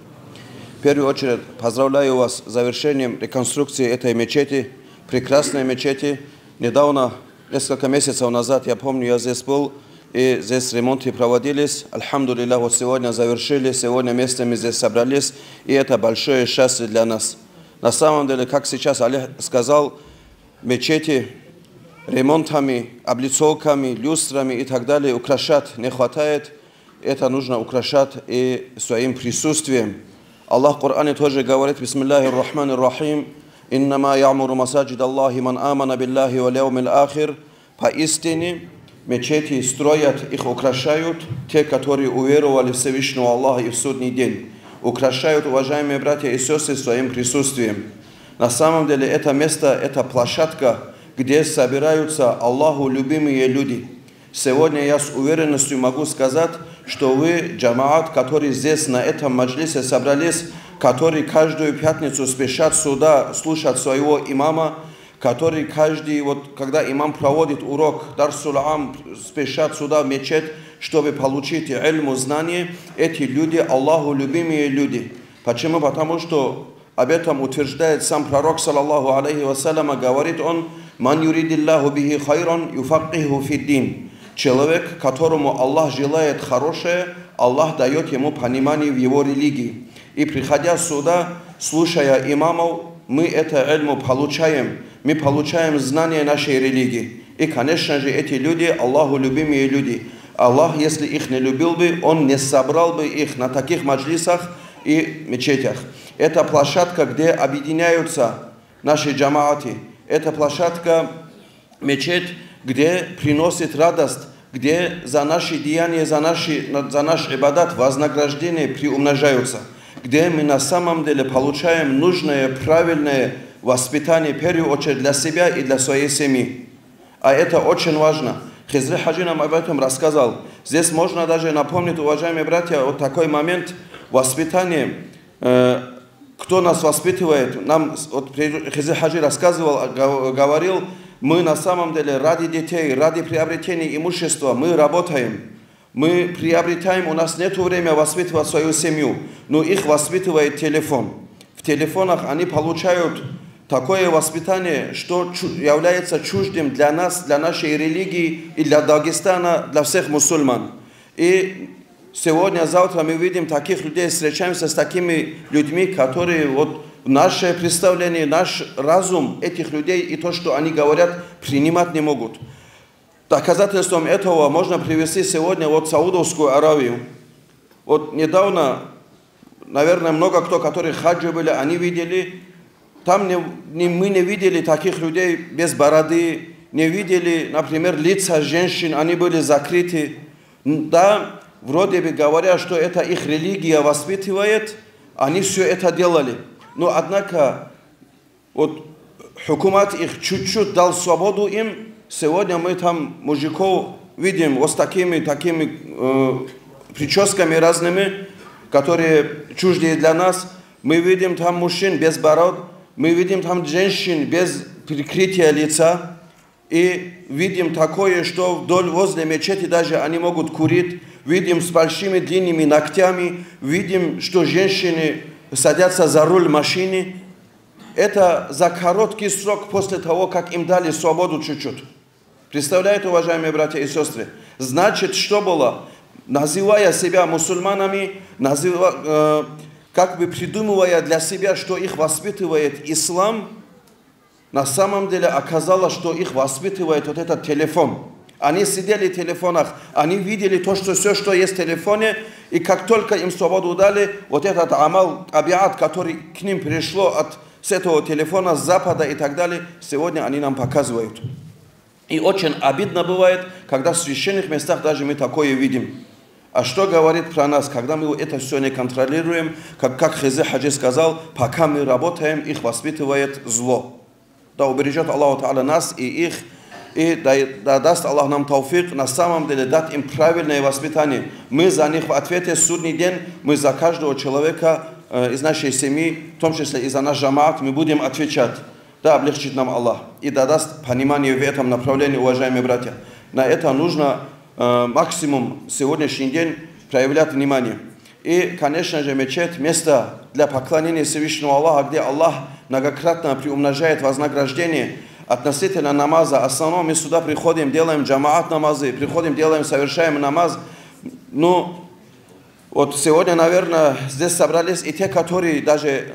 В первую очередь поздравляю вас с завершением реконструкции этой мечети, прекрасной мечети. Недавно, несколько месяцев назад, я помню, я здесь был, и здесь ремонты проводились. Альхамдулиллах, вот сегодня завершили, сегодня вместе мы здесь собрались, и это большое счастье для нас. На самом деле, как сейчас Олег сказал, мечети ремонтами, облицовками, люстрами и так далее украшать не хватает. Это нужно украшать и своим присутствием. Аллах в Коране тоже говорит: بسم الله الرحمن الرحيم. إنما يعمر مساجد الله من آمن بالله واليوم الآخر. Поистине, мечети строят, их украшают те, которые уверовали в Всевышнего Аллаха и в судный день. Украшают, уважаемые братья и сестры, своим присутствием. На самом деле, это место, это площадка, где собираются Аллаху любимые люди. Сегодня я с уверенностью могу сказать, что вы, джамаат, который здесь, на этом маджлисе собрались, который каждую пятницу спешат сюда слушать своего имама, который каждый, вот, когда имам проводит урок, дарсул ам, спешат сюда в мечеть, чтобы получить ильму, знание, эти люди Аллаху любимые люди. Почему? Потому что об этом утверждает сам пророк, саллаллаху алейхи ва саллям, говорит он: من يرد الله به خيرا يفقهه في الدين. Человек, которому Аллах желает хорошее, Аллах дает ему понимание в его религии. И приходя сюда, слушая имамов, мы это ильму получаем, мы получаем знания нашей религии. И, конечно же, эти люди Аллаху любимые люди. Аллах, если их не любил бы, Он не собрал бы их на таких маджлисах и мечетях. Это площадка, где объединяются наши джамааты. Это площадка, мечеть, где приносит радость, где за наши деяния, за, наши, за наш ибадат вознаграждение приумножаются, где мы на самом деле получаем нужное, правильное воспитание, в первую очередь для себя и для своей семьи. А это очень важно. Хизри Хаджи нам об этом рассказал. Здесь можно даже напомнить, уважаемые братья, вот такой момент воспитания. Э, кто нас воспитывает? Нам с- вот при- Хизри Хаджи рассказывал, а, гов- говорил: мы на самом деле ради детей, ради приобретения имущества, мы работаем. Мы приобретаем, у нас нет время воспитывать свою семью, но их воспитывает телефон. В телефонах они получают такое воспитание, что чу- является чуждым для нас, для нашей религии и для Дагестана, для всех мусульман. И сегодня, завтра мы видим таких людей, встречаемся с такими людьми, которые вот наше представление, наш разум этих людей и то, что они говорят, принимать не могут. Доказательством этого можно привести сегодня вот Саудовскую Аравию. Вот недавно, наверное, много кто, которые в хаджи были, они видели. Там не, не- мы не видели таких людей без бороды, не видели, например, лица женщин, они были закрыты. Н- Да, вроде бы говоря, что это их религия воспитывает, они все это делали. Но однако вот хукумат их чуть-чуть дал свободу им. Сегодня мы там мужиков видим вот с такими, такими э, прическами разными, которые чуждые для нас. Мы видим там мужчин без бород, мы видим там женщин без прикрытия лица. И видим такое, что вдоль возле мечети даже они могут курить. Видим с большими длинными ногтями. Видим, что женщины садятся за руль машины. Это за короткий срок после того, как им дали свободу чуть-чуть. Представляете, уважаемые братья и сестры? Значит, что было? Называя себя мусульманами, называ- э, как бы придумывая для себя, что их воспитывает ислам, на самом деле оказалось, что их воспитывает вот этот телефон. Они сидели в телефонах, они видели то, что всё, что есть в телефоне, и как только им свободу дали, вот этот амал, табиат, который к ним пришло от, с этого телефона, с Запада и так далее, сегодня они нам показывают. И очень обидно бывает, когда в священных местах даже мы такое видим. А что говорит про нас, когда мы это всё не контролируем, как, как Хизри Хаджи сказал, пока мы работаем, их воспитывает зло. Да убережет Аллаху Та'аля нас и их, и да, да даст Аллах нам тауфик на самом деле дать им правильное воспитание. Мы за них в ответе в судный день, мы за каждого человека э, из нашей семьи, в том числе и за наш джамаат, мы будем отвечать. Да облегчит нам Аллах и да даст понимание в этом направлении, уважаемые братья. На это нужно э, максимум сегодняшний день проявлять внимание. И, конечно же, мечеть — место для поклонения Всевышнего Аллаха, где Аллах многократно приумножает вознаграждение относительно намаза. Основном мы сюда приходим, делаем джамаат намазы, приходим, делаем, совершаем намаз. Ну, вот сегодня, наверное, здесь собрались и те, которые даже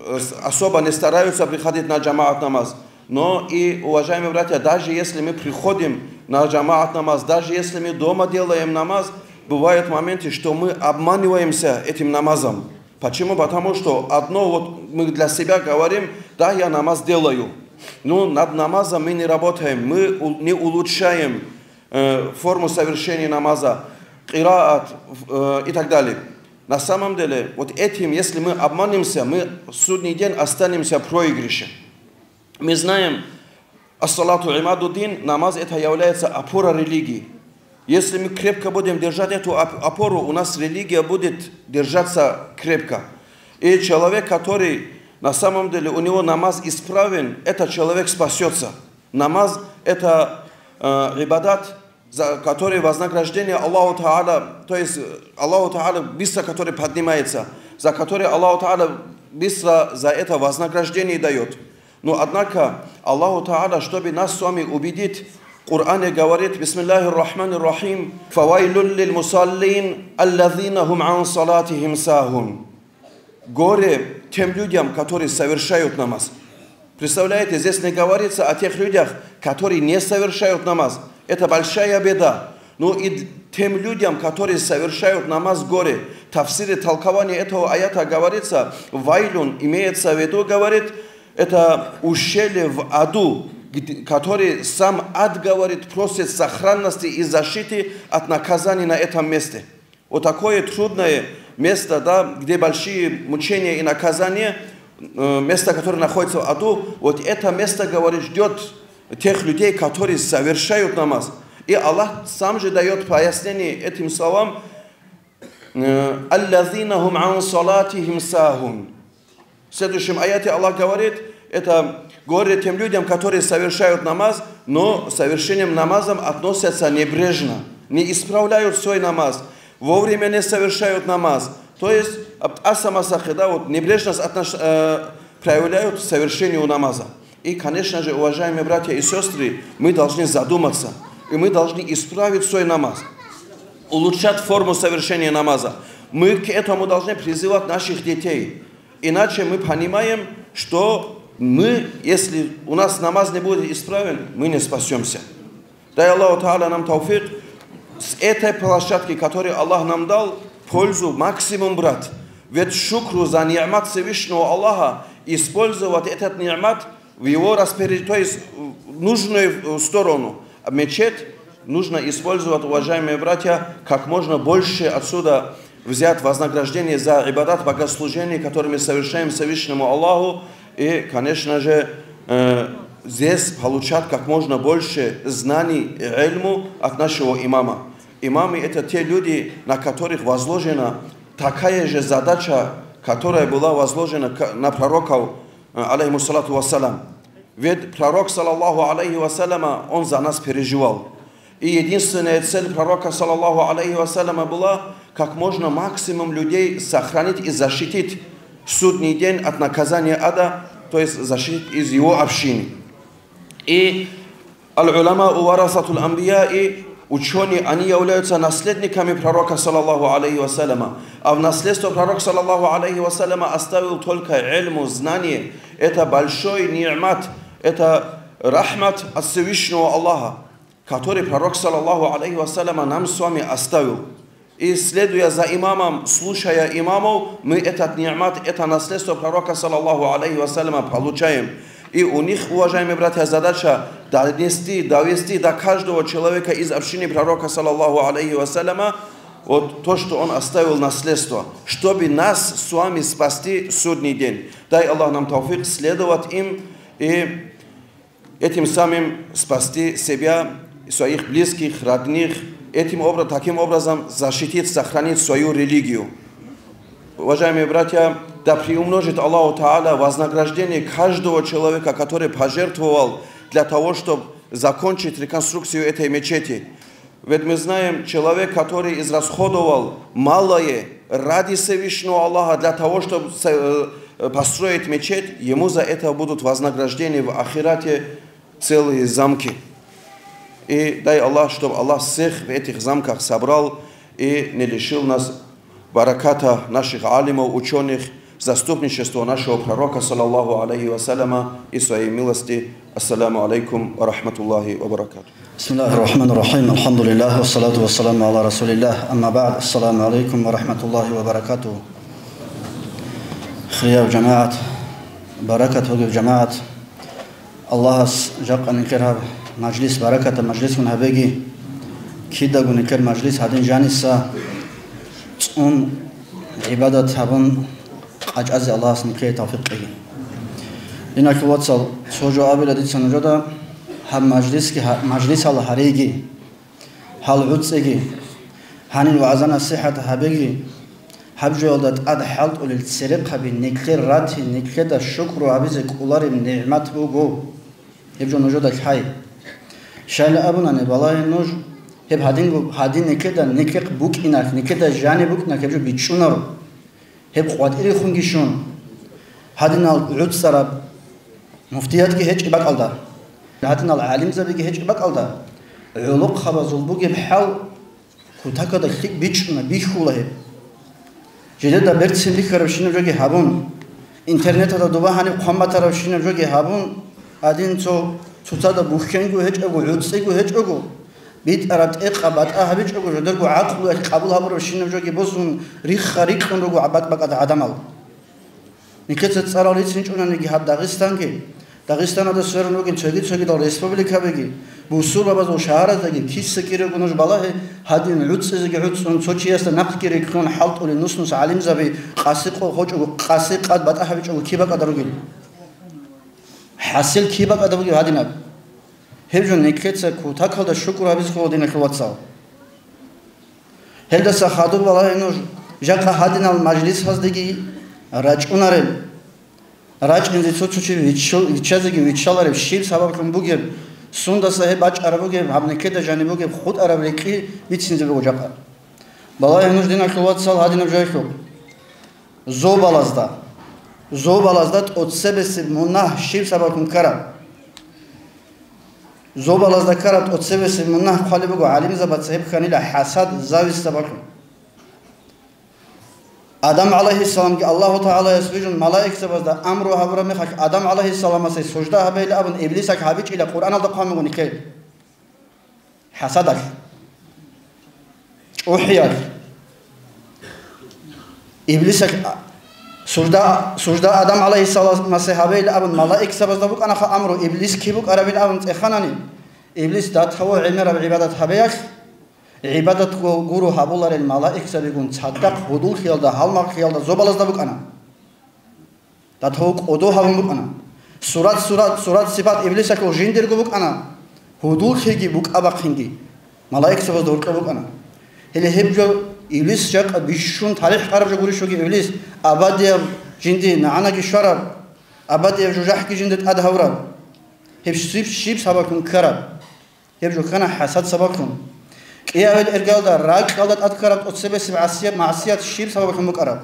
э, с- особо не стараются приходить на джамаат намаз. Но и, уважаемые братья, даже если мы приходим на джамаат намаз, даже если мы дома делаем намаз, бывают моменты, что мы обманываемся этим намазом. Почему? Потому что одно вот мы для себя говорим: «Да, я намаз делаю». Ну, над намазом мы не работаем, мы у- не улучшаем э, форму совершения намаза, кираат э, и так далее. На самом деле, вот этим, если мы обманемся, мы в судный день останемся в проигрыше. Мы знаем, ас-салату имадуддин, намаз — это является опора религии. Если мы крепко будем держать эту оп- опору, у нас религия будет держаться крепко. И человек, который на самом деле у него намаз исправен, этот человек спасется. Намаз — это э, ибадат, за который вознаграждение Аллаху Та'аля, то есть э, Аллаху Та'аля быстро который поднимается, за который Аллаху Та'аля быстро за это вознаграждение дает. Но однако Аллаху Та'аля, чтобы нас с вами убедить, в Коране говорит: «Бисмиллахир Рахманир Рахим, фавайлул лил мусаллин, аллазина хум ан салатихим сахун». Горе тем людям, которые совершают намаз. Представляете, здесь не говорится о тех людях, которые не совершают намаз. Это большая беда. Но и тем людям, которые совершают намаз, горе. В тафсире, толкование этого аята говорится, вайлюн, имеется в виду, говорит, это ущелье в аду, где- который сам ад, говорит, просит сохранности и защиты от наказаний на этом месте. Вот такое трудное место, да, где большие мучения и наказания, э, место, которое находится в аду, вот это место, говорит, ждет тех людей, которые совершают намаз. И Аллах сам же дает пояснение этим словам: «Аллазина хум ан салатихим сахун». В следующем аяте Аллах говорит, это горе тем людям, которые совершают намаз, но совершением намазом относятся небрежно, не исправляют свой намаз, вовремя не совершают намаз. То есть, аб- асамасахи, да, вот небрежность отнош- э, проявляют в совершении намаза. И, конечно же, уважаемые братья и сестры, мы должны задуматься, и мы должны исправить свой намаз, улучшать форму совершения намаза. Мы к этому должны призывать наших детей. Иначе мы понимаем, что мы, если у нас намаз не будет исправен, мы не спасемся. Дай Аллаху Та'аля нам тауфик с этой площадки, которую Аллах нам дал, пользу максимум брать. Ведь шукру за ни'мат Всевышнего Аллаха, использовать этот ни'мат в его распоряжении, то есть в нужную сторону. А мечеть нужно использовать, уважаемые братья, как можно больше отсюда взять вознаграждение за ибадат, богослужение, которое мы совершаем Всевышнему Аллаху. И, конечно же, э, здесь получать как можно больше знаний и ильму от нашего имама. Имамы — это те люди, на которых возложена такая же задача, которая была возложена к- на пророков, э, алейхимуссалату вассалям. Ведь пророк, саллаллаху алейхи вассаляма, он за нас переживал. И единственная цель пророка, саллаллаху алейхи вассаляма, была как можно максимум людей сохранить и защитить в судный день от наказания ада, то есть защитить из его общины. И аль-уляма у варасатул анбия, и учёные, они являются наследниками пророка, саллаллаху алейхи вассаляма. А в наследство пророк, саллаллаху алейхи вассаляма, оставил только ильму, знание. Это большой ни'мат, это рахмат от Всевышнего Аллаха. который Пророк, саллаллаху алейхи ва саллама, нам с вами оставил. И, следуя за имамом, слушая имамов, мы этот ниъмат, это наследство Пророка, саллаллаху алейхи ва саллама, получаем. И у них, уважаемые братья, задача донести, довести до каждого человека из общины Пророка, саллаллаху алейхи ва саллама, вот то, что он оставил наследство, чтобы нас с вами спасти в судный день. Дай Аллах нам тауфик следовать им и этим самым спасти себя, своих близких, родных, этим обра-, таким образом защитить, сохранить свою религию. Уважаемые братья, да приумножит Аллаху Тааля вознаграждение каждого человека, который пожертвовал для того, чтобы закончить реконструкцию этой мечети. Ведь мы знаем, человек, который израсходовал малое ради Всевышнего Аллаха для того, чтобы с-, э, построить мечеть, ему за это будут вознаграждения в ахирате, целые замки. И дай Аллах, чтобы Аллах всех в этих замках собрал и не лишил нас бараката наших алимов, ученых, заступничества нашего Пророка, саллаллаху алейхи ва саллама, и своей милости. Ассаламу алейкум ва рахматуллахи ва баракатух. بسم الله الرحمن الرحيم. الحمد لله والصلاة والسلام على رسول الله. أما بعد. السلام عليكم ورحمة الله وبركاته. Хирияв жамагӀат, баракат бугеб жамагӀат. Аллагьас жакъа никер гьаб мажлис баракатаб мажлисгун гьабеги, кидаго никер мажлис гьадин жаниса цӀун гӀибадат гьабун къачӀазе Аллагьас никее тавфикъ кьеги. Диналъул вацал, цо жо абила дица нужеда, гьаб мажлисги гьа-, мажлисал гьариги, гьал гӀуцӀиги, гьанил вагӀза-насихӀат гьабеги, гьаб жоялда тӀад хӀалтӀулел церехъаби никлъер рати, никлъеда шукру гьабизе кӀолареб нигӀмат буго. Гьеб жо нужеда лъай. Щайла абунани, балагье нуж, гьеб гьадинго, гьадин никлъеда никлъехъ букӀиналъ, никлъеда жаниб букӀиналъ гьеб жо бичӀчӀунаро. Гьеб къватӀирехунги щун, гьадинал гӀуцӀараб муфтиятги гьечӀеб бакӀалда, гьадинал гӀалимзабиги гьечӀеб бакӀалда, гӀолохъабазул бугеб хӀал кутакалда лъикӀ бичӀчӀуна, бихьула гьеб. Жидеда берцин бихьарабщинаб жоги гьабун, интернеталда доба гьаниб хъван батарабщинаб жоги гьабун, гьадин цо цоцазда бухьенго гьечӀого, гӀуцӀиго гьечӀого, битӀараб тӀекъаб батӀа гьабичӀого, жодерго гӀакълуялъ къабул гьабурабщинаб жоги босун, рихха рикьун руго бакӀ-бакӀалда гӀадамал. Никеца цӀарал рицинчӀониги гьаб Дагъистанги, Дагъистаналда сверун ругел цоги-цогидал республикабиги, бусурбабазул шагьараздаги киса кириго нуж балагье, гьадин гӀуцӀизеги гӀуцӀун, цо чиясда нахъги рикьун, хӀалтӀулел нус-нус гӀалимзаби къаси къо гьочӀого, къаси къад батӀа гьабичӀого киб бакӀалда ругел? ХӀасил киб бакӀалда бугеб гьадинаб? Гьеб жо никеца кутакалда шукру гьабизе ккола, диналъул вацал. Гьелдаса хадуб балагье нуж, жакъа гьадинал мажлисаздеги рачӀунарел. РачӀинзе цо-цо чи виччо-, виччазеги виччалареб щиб сабаблъун бугеб, сундаса гьеб бачӀараб бугеб, гьаб никеда жаниб бугеб хутӀараб рекӀкӀи бицинзе буго жакъа. Балагье нуж, диналъул вацал, гьадинаб жоялъухъ. Зобалазда, зобалазда тӀоцебесеб мунагь щиб сабаблъун ккараб? Зобалазда ккараб тӀоцебесеб мунагь хъвалеб буго гӀалимзабаца гьеб хьанила хӀасад, зависть сабаблъун. Адам гӀалайгьиссаламги Аллагьу ТагӀалаяс вижун малаикзабазда амру гьабураб мехалъ Адам гӀалайгьиссаламасе сужда гьабейилан абун иблисалъ гьабичӀила Къуръаналда хъван буго нике. ХӀасадалъ, чӀухӀиялъ. Иблисалъ сужда, сужда Адам гӀалайгьиссаламасе гьабейилан абун малаикзабазда букӀанаха амру, иблис киб букӀарабилан абун цӀеханани, иблис датаво гӀемераб гӀибадат гьабеялъ, гӀибадатго гуро гьабуларел малаикзабигун цадахъ гьудуллъиялда, гьалмагълъиялда зобалазда букӀана. Датаво кӀодо гьабун букӀана. Сурат, сурат, сурат-сипат иблисалъул жиндирго букӀана. Гьудуллъиги букӀа-бахъинги малаикзабазда гьоркьоб букӀана. Гьеле гьеб жо иблис жакъа бищун талихӀ къараб жо гурищ бугеб иблис, абадияб жинди нагӀанаги щвараб, абадияб жужахӀги жинда тӀад гьавураб. Гьеб щиб, щиб сабаблъун ккараб? Гьеб жо ккана хӀасад сабаблъун. КӀиабил иргалда ракьалда тӀад ккараб тӀоцебесеб гӀасияб, магӀсият щиб сабаблъун букӀараб?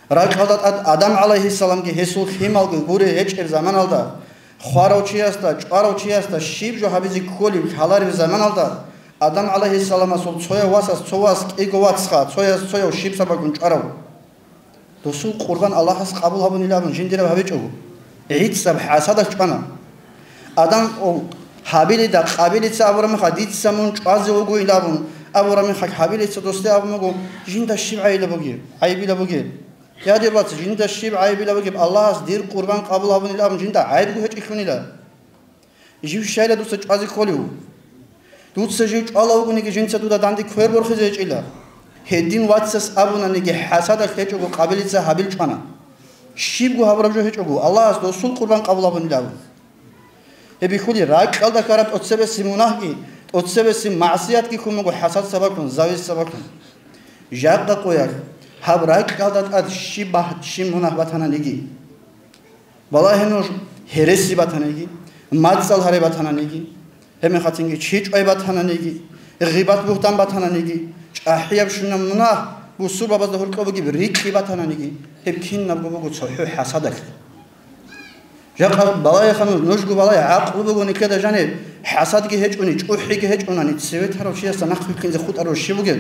Ракьалда тӀад Адам гӀалайгьиссаламги гьесул лъималги гуре гьечӀеб заманалда, хварав чиясда, чӀварав чиясда щиб жо гьабизе кколеб лъалареб заманалда, Адам гӀалайгьиссаламасул цояв васас цо вас кӀиго вацха, цояс цояв щиб сабаблъун чӀварав? Досул къурбан Аллагьас къабул гьабунилан абун жиндираб гьабичӀого, гӀицӀаб хӀасадалъ чӀвана. Адам, о, Гьабилида Къабилица абураб мехалъ, дица мун чӀвазе вугоин абун абураб мехалъ, Гьабилица досде абун буго: «Жинда щиб гӀайила бугеб, гӀайибила бугеб? Я, дир вац, жинда щиб гӀайибила бугеб? Аллагьас дир къурбан къабул гьабунила абун жинда гӀайибго гьечӀелъунила. Жив щайила дуца чӀвазе кколев? Дуца жив чӀвала вугониги, жинца дуда данде квер борхизе гьечӀила». Гьедин вацас абунаниги, хӀасадалъ гьечӀого Къабилица Гьабил чӀвана. Щибго гьабураб жо гьечӀого, Аллагьас досул къурбан къабул гьабунилан. Гьеб бихьулеб ракьалда ккараб тӀоцебесеб мунагьги, тӀоцебесеб магӀсиятги ккун буго хӀасад сабаблъун, зависть сабаблъун. Жакъа къоялъ, гьаб ракьалда тӀад щиб багь-, щиб мунагь батананиги. Балагье нуж, гьереси батаниги, мацӀал гьари батаниги, гьебмехалъинги чи чӀвай батаниги, гъибат-бугьтан батаниги, чӀахӀияб щунаб мунагь, бусурбабазда гьоркьоб бугеб рикьи батаниги, гьеб кинабго буго цохӀо хӀасадалъ. Жакъа балагьеха нуж, нужго балагье, гӀакълу буго никеда жаниб, хӀасадги гьечӀони, чӀухӀиги гьечӀонани, цеве тарав чиясда нахъ вилълъинзе хутӀарав щив вугев?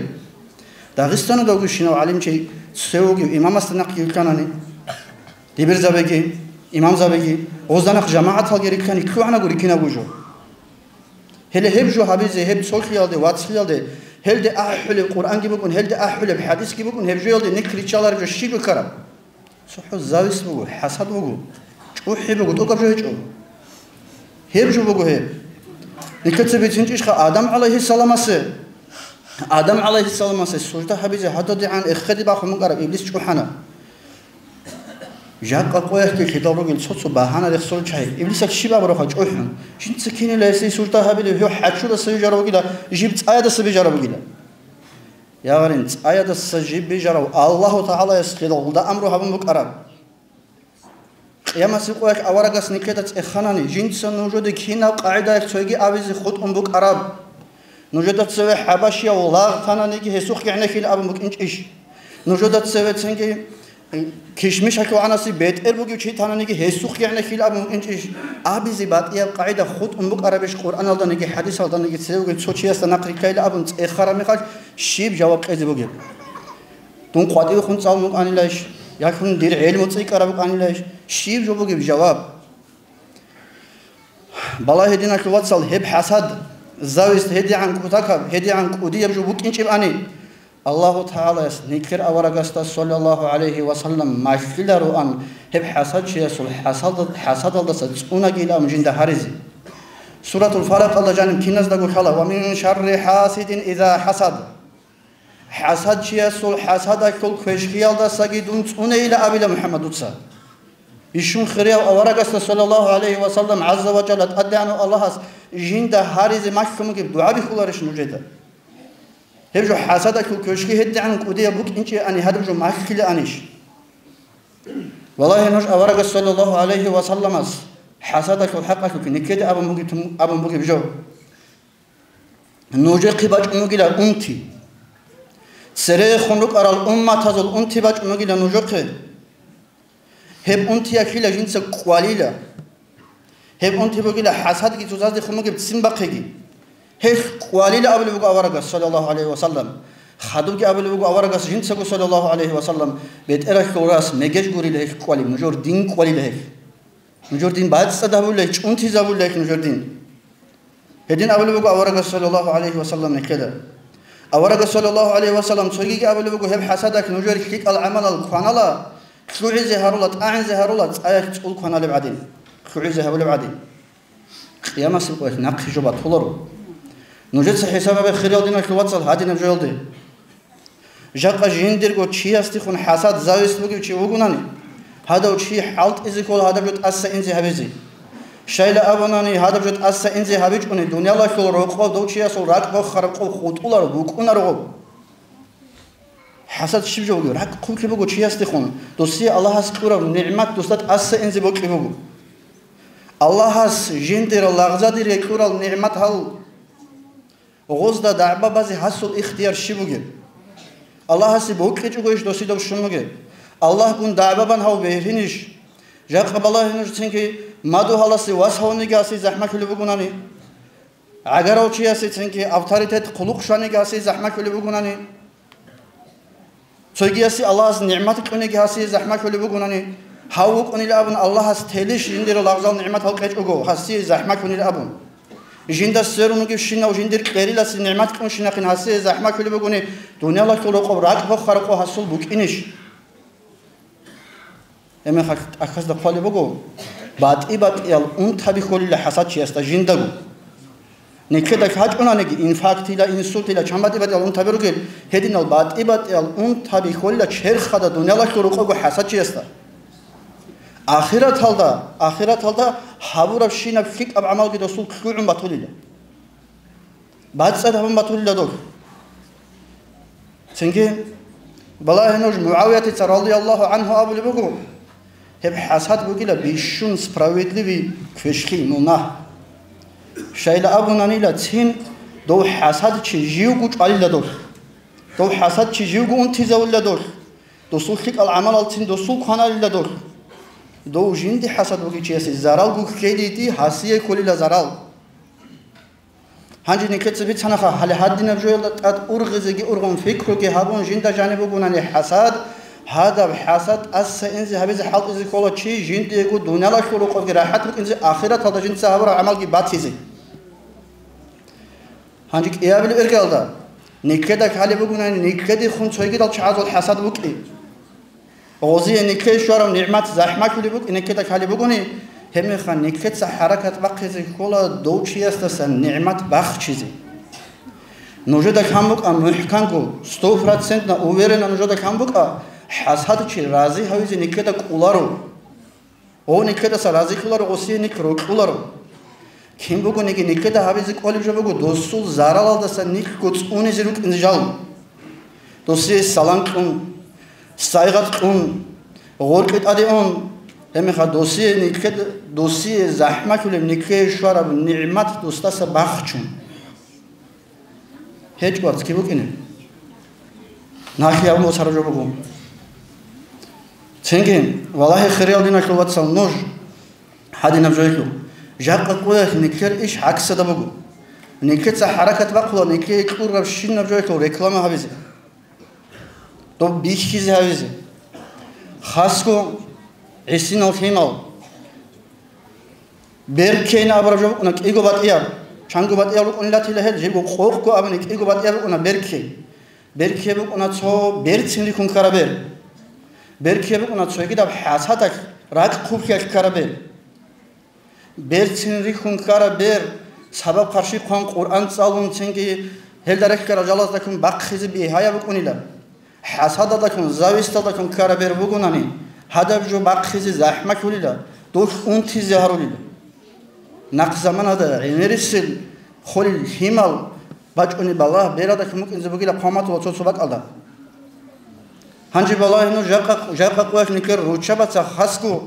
Дагъистаналда вугевщинав гӀалимчи, цеве вугев имамасда нахъ вилълъанани, дибирзабиги, имамзабиги, гъозда нахъ жамагӀаталги риккани, лъугӀанаго риккинабго жо. Гьеле гьеб жо гьабизе, гьеб цолъиялде, вацлъиялде, гьелде ахӀулеб Къуръанги букӀун, гьелде ахӀулеб хӀадисги букӀун, гьеб жоялде нилъ риччалареб жо щиб букӀараб? ЦохӀо зависть буго, хӀасад буго, чӀухӀи буго, тӀокӀаб жо гьечӀо. Гьеб жо буго гьеб. Нилъеца бицинчӀищха Адам гӀалайгьиссаламасе? Адам гӀалайгьиссаламасе сужда гьабизе гьададигӀан эхеде бахун букӀараб иблис чӀухӀана. Жакъа къоялъги лъидал ругел цо-цо багьана рехсолел чагӀи. Иблисалъ щиб абурабха чӀухӀун? Жинца кинила гьесие сужда гьабилеб, гьев хӀачудаса вижарав вугила, жиб цӀаядаса бижарав вугила. Ягъарин, цӀаядаса жиб бижарав Аллагьу ТагӀалаяс лъидалда амру гьабун букӀараб. Къиямасеб къоялъ аварагас никеда цӀеханани, жинца нужеде кинаб къагӀидаялъ цойги абизе хутӀун букӀараб? Нужеда цеве хӀабашияв лагъ тананиги гьесухъ гӀенеккила абун букӀинчӀищ? Нужеда цеве цинги кишмиш гьалъугӀанаси бетӀер бугев чи тананиги гьесухъ гӀенеккила абун букӀинчӀищ? Абизе батӀияб къагӀида хутӀун букӀарабищ Къуръаналданиги хӀадисалданиги цевеги цо чиясда нахъ риккайила абун цӀехараб мехалъ щиб жаваб кьезе бугеб? Дун къватӀивехун цӀалун вукӀанилайищ? Яхун дир гӀелму цӀикӀкӀараб букӀанилайищ? Щиб жо бугеб жаваб? Балагье, диналъул вацал, гьеб хӀасад, зависть гьедигӀан кутакаб, гьедигӀан кӀудияб жо букӀинчӀебани, Аллагьу ТагӀалаяс никер аварагасда, саллаллагьу гӀалайгьи ва саллам, малъилароан гьеб хӀасадчиясул хӀасалда-, хӀасадалдаса цӀунагилан жинда гьаризе. Суратул Фалакъалда жаниб киназдаго лъала: «Ва мин шарри хӀасидин иза хӀасад». ХӀасадчиясул хӀасадалъул квешкиялдасаги дун цӀунейила абила МухӀаммадуца. Бищун хирияв аварагасда, саллаллагьу гӀалайгьи ва саллам, гӀазза ва жалла, ТӀадегӀанав Аллагьас жинда гьаризе малъун бугеб дугӀа бихьуларищ нужеда? Гьеб жо хӀасадалъул квешки гьедигӀан кӀудияб букӀинчӀебани гьадаб жо малъилаанищ? Валлагьи, нуж аварагас, саллаллагьу гӀалайгьи ва салламас, хӀасадалъул хӀакъалъулъ никеда абун бугеб-, абун бугеб жо. Нужехъе бачӀун бугила унти. Церехун рукӀарал умматазул унти бачӀун бугила нужехъе. Гьеб унтиялъила жинца кӀвалила. Гьеб унти бугила хӀасадги цоцаздехун бугеб ццин бахъиги. Гьелъ кӀвалила абулеб буго аварагас, саллаллагьу гӀалайгьи ва саллам. Хадубги абулеб буго аварагас жинцаго, саллаллагьу гӀалайгьи ва саллам: «БетӀералъул рас, мегеж гурила гьелъ кӀвали, нужер дин кӀвалила гьелъ». Нужер дин бацӀцӀад гьабулеб, чӀунтизабулеб нужер дин. Гьедин абулеб буго аварагас, саллаллагьу гӀалайгьи ва саллам, нилъеда. Аварагас, саллаллагьу гӀалайгьи ва саллам, цогиги абулеб буго: «Гьеб хӀасадалъ нужер лъикӀал гӀамалал кванала, лъугӀизе гьарула, тӀагӀинзе гьарула, цӀаялъ цӀул кваналеб гӀадин, лъугӀизе гьабулеб гӀадин». Къиямасеб къоялъ нахъе жо батуларо. Нужеца хӀисаб гьабе, хириял диналъул вацал, гьадинаб жоялде. Жакъа жиндирго чиясдехун хӀасад, зависть бугев чи вугунани, гьадав чи хӀалтӀизе ккола гьадаб жо тӀаса инзе гьабизе. Щайла абунани, гьадаб жо тӀаса инзе гьабичӀони, дуниялалъул рокъоб дов чиясул ракӀ бохараб къо хутӀуларо, букӀунаро гъоб. ХӀасад щиб жо бугеб? РакӀ хъублъи буго чиясдехун, досие Аллагьас кьураб нигӀмат досда тӀаса инзе бокьи буго. Аллагьас жиндир лагъзадеризе кьурал нигӀмат гьал. Гъозда дагӀба базе гьасул ихтияр щиб бугеб? Аллагьасе бокьичӀогойищ досидаб щун бугеб? Аллагьгун дагӀба бан гьав бегьринищ? Жакъа балагье нужецинги, мадугьаласе вас гьавниги гьасие захӀмалъулеб бугунани, гӀагарав чиясецинги авторитет, хъулухъ щваниги гьасие захӀмалъулеб бугунани, цогиясе Аллагьас нигӀмат кьуниги гьасие захӀмалъулеб бугунани, гьав вукӀунила абун Аллагьас телищ жиндир лагъзал нигӀматал кьечӀого гьасие захӀмалъунила абун? Жинда сверун вугевщинав жиндир кьериласе нигӀмат кьунщинахъин гьасие захӀмалъулеб бугони, дуниялалъул рокъоб ракӀ бохха-рокъо гьасул букӀинищ? Гьебмехалъ тӀахьазда хъвалеб буго, батӀи-батӀиял унтаби холила хӀасадчиясда жиндаго. Никеда гьачӀунаниги, инфарктила, инсультила, чан батӀи-батӀиял унтаби ругел, гьединал батӀи-батӀиял унтаби холила черхада дуниялалъул рокъобго хӀасадчиясда. Ахираталда, ахираталда гьабурабщинаб лъикӀаб гӀамалги досул лъугӀун батулила. БацӀцӀад гьабун батулила дол. Цинги, балагье нуж, МугӀавиятица, радияллагьу гӀангьу, абулеб буго: «Гьеб хӀасад бугила бищун справедливый квешлъи, мунагь». Щайла абунанила цин, дов хӀасадчи живго чӀвалила дол. Дов хӀасадчи живго унтизавулила дол. Досул лъикӀал гӀамалалцин досул кваналила дол. Дов жинди хӀасад бугев чиясе заралго ккелиди, гьасие кколила зарал. Гьанже никеца бицанаха, гьале гьадинаб жоялда тӀад ургъизеги ургъун, пикруги гьабун, жинда жаниб бугунани хӀасад, гьадаб хӀасад тӀаса инзе гьабизе хӀалтӀизе ккола чи, жиндиего дуниялалъул рокъобги рахӀат букӀинзе, ахираталда жинца гьабураб гӀамалги батизе. Гьанже кӀиабилеб иргалда, никеда лъалеб бугунани, никедехун цойгидал чагӀазул хӀасад букӀи. Гъозие никее щварав нигӀмат захӀмалъулеб букӀи, никеда лъалеб бугони, гьебмехалъ никеца хӀаракат бахъизе ккола дов чиясдасан нигӀмат бахчизе. Нужеда лъан букӀа мухӀканго, сто процентно уверенно нужеда лъан букӀа, хӀасадчи рази гьавизе никеда кӀоларо. Гъов никедаса разилъуларо, гъосие нилъ рокьуларо. Кин бугониги никеда гьабизе кӀолеб жо буго, досул заралалдаса нилъго цӀунизе рукӀинзе жал. Досие салам кьун, сайгъат кьун, гъоркье тӀаде ун, гьебмехалъ досие никед-, досие захӀмалъулеб никее щвараб нигӀмат досдаса бахчун. ГьечӀо, вацги букӀине. Нахъе гьабун босараб жо буго. Цинги, валагье, хириял диналъул вацал, нуж гьадинаб жоялъул. Жакъа къоялъ никер иш гӀаксада буго. Никеца хӀаракат бахъула никее кьурабщинаб жоялъул реклама гьабизе. Доб бихьизе гьавизе. Хасго гӀисинал лъимал. Беркейин абураб жо букӀуна кӀиго батӀияб. Чанго батӀияб рукӀунилатила гьел, жибго къокъго абуни кӀиго батӀияб букӀуна беркей. Беркей букӀуна цо берцин рихьун ккараб бер. Беркей букӀуна цогидаб хӀасадалъ ракӀ хъублъиялъ ккараб бер. Берцин рихьун ккараб бер, сабаб-къарши хъван Къуръан цӀалун, цинги гьелда рехьарал жалаздакун бахъизе бигьаяб букӀунила. ХӀасадалдакун, зависталдакун ккараб бер бугонани, гьадаб жо бахъизе захӀмалъулила, дулъ унтизе гьарулила. Нахъ заманада гӀемерисел холел лъимал бачӀунеб балагь бералдакун букӀинзе бугила хъван батула цо-цо бакӀалда. Гьанже балагье нуж жакъа, жакъа къоялъ никер руччабаца хасго,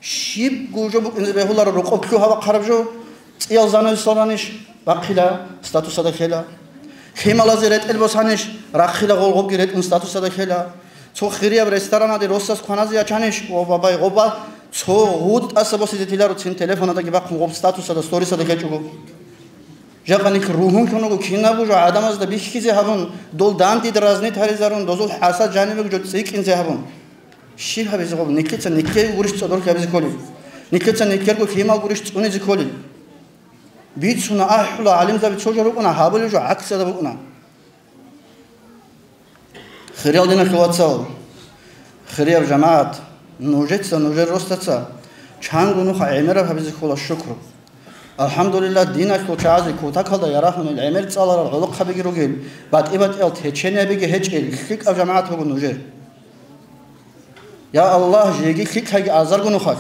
щибго жо букӀинзе бегьуларо, рокъоб лъугьа-бахъараб жо, цӀиял занавесал ранищ, бахъила, статусада ккела. Лъималазе ретӀел босанищ, рахъила, гъолгъобги ретӀун статусада ккела. Цо хирияб ресторанаде росас кваназе ячанищ, о, бабай, гъоба, цо гъутӀаса босизе тиларо, цин телефонадаги бахъун гъоб статусада, сторисада ккечӀого. Жакъа нилъ ругьунлъун руго, кинабго жо гӀадамазда бихьизе гьабун, дол данде дразнить гьаризарун, дозул хӀасад жанибего жо цӀикӀкӀинзе гьабун. Щиб гьабизе гъоб? Нилъеца нилъее гурищ цӀодорлъи гьабизе кколеб? Нилъеца нилъерго лъимал гурищ цӀунизе кколеб? Бицуна, ахӀула, гӀалимзаби цо жо рукӀуна, гьабулеб жо гӀаксалда букӀуна. Хириял диналъул вацал, хирияб жамагӀат, нужеца, нужер росаца чанго нуха гӀемераб гьабизе ккола шукру. АлхӀамдулиллагь, диналъул чагӀазе кутакалда ярагьунел гӀемер цӀаларал гӀолохъабиги ругел, батӀи-батӀиял течениябиги гьечӀел лъикӀаб жамагӀат буго нужер. Я Аллагь, жеги лъикӀлъайги азарго нухалъ.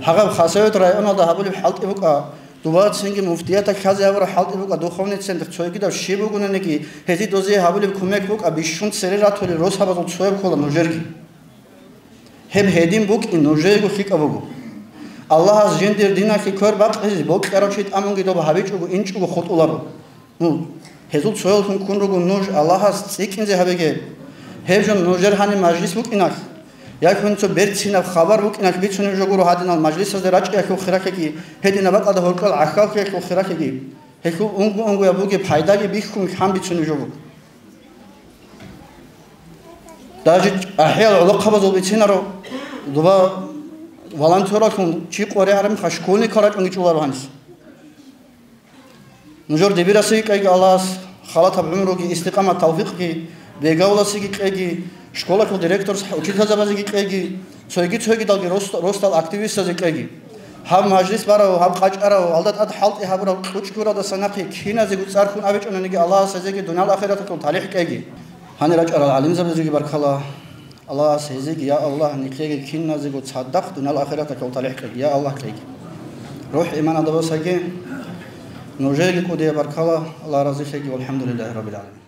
Гьагъаб Хасавюрт районалда гьабулеб хӀалтӀи букӀа, дуба цинги муфтияталъ лъазе гьабураб хӀалтӀи букӀа, духовный центр, цогидаб щиб бугонаниги, гьезие дозе гьабулеб кумек букӀа, бищун цере ратулел росабазул цояб ккола нужерги. Гьеб гьедин букӀин нужеего лъикӀаб буго. Аллагьас жиндир диналъе квер бакьизе бокьарав чи тӀамунги доб гьабичӀого инчӀого хутӀуларо. Ну, гьезул цоялъун ккун руго нуж, Аллагьас цӀикӀкӀинзе гьабеге. Гьеб жо нужер гьаниб мажлис букӀиналъ, я хӀинцо берцинаб хабар букӀиналъ бицунеб жо гуро гьадинал мажлисазде рачӀиялъул хиралъиги, гьединаб бакӀалда гьоркьол гӀахьаллъиялъул хиралъиги, гьелъул унго-унгояб бугеб пайдаги бихьун лъан бицунеб жо буго. Даже ахӀиял гӀолохъабазул бицинаро, дуба волонтералъун чи къваригӀараб мехалъ школьникал рачӀунги чӀоларо гьанис. Нужер дибирасеги кьеги Аллагьас халатаб гӀумруги, истикъамат тавфикъги, бегавласеги кьеги, школалъул директорс учительзабазеги кьеги, цойги-цойгидалги рос-, росдал активистазе кьеги. Гьаб мажлис барав, гьаб къачӀарав, алда тӀад хӀалтӀи гьабурав кьучӀ гуралдаса нахъе киназего цӀар хьун абичӀониги Аллагьас гьезеги дуниял ахираталъул талихӀ кьеги. Гьанир рачӀарал гӀалимзабазеги баркала. Аллагьас гьезеги, я Аллагь, нилъеги киназего цадахъ дуниял ахираталъул талихӀ кьеги, я Аллагь, кьеги. РухӀ иманалда босаги, нужееги кӀудияб баркала, Аллагь разилъеги, валхӀамдулиллагьи раббил гӀаламин.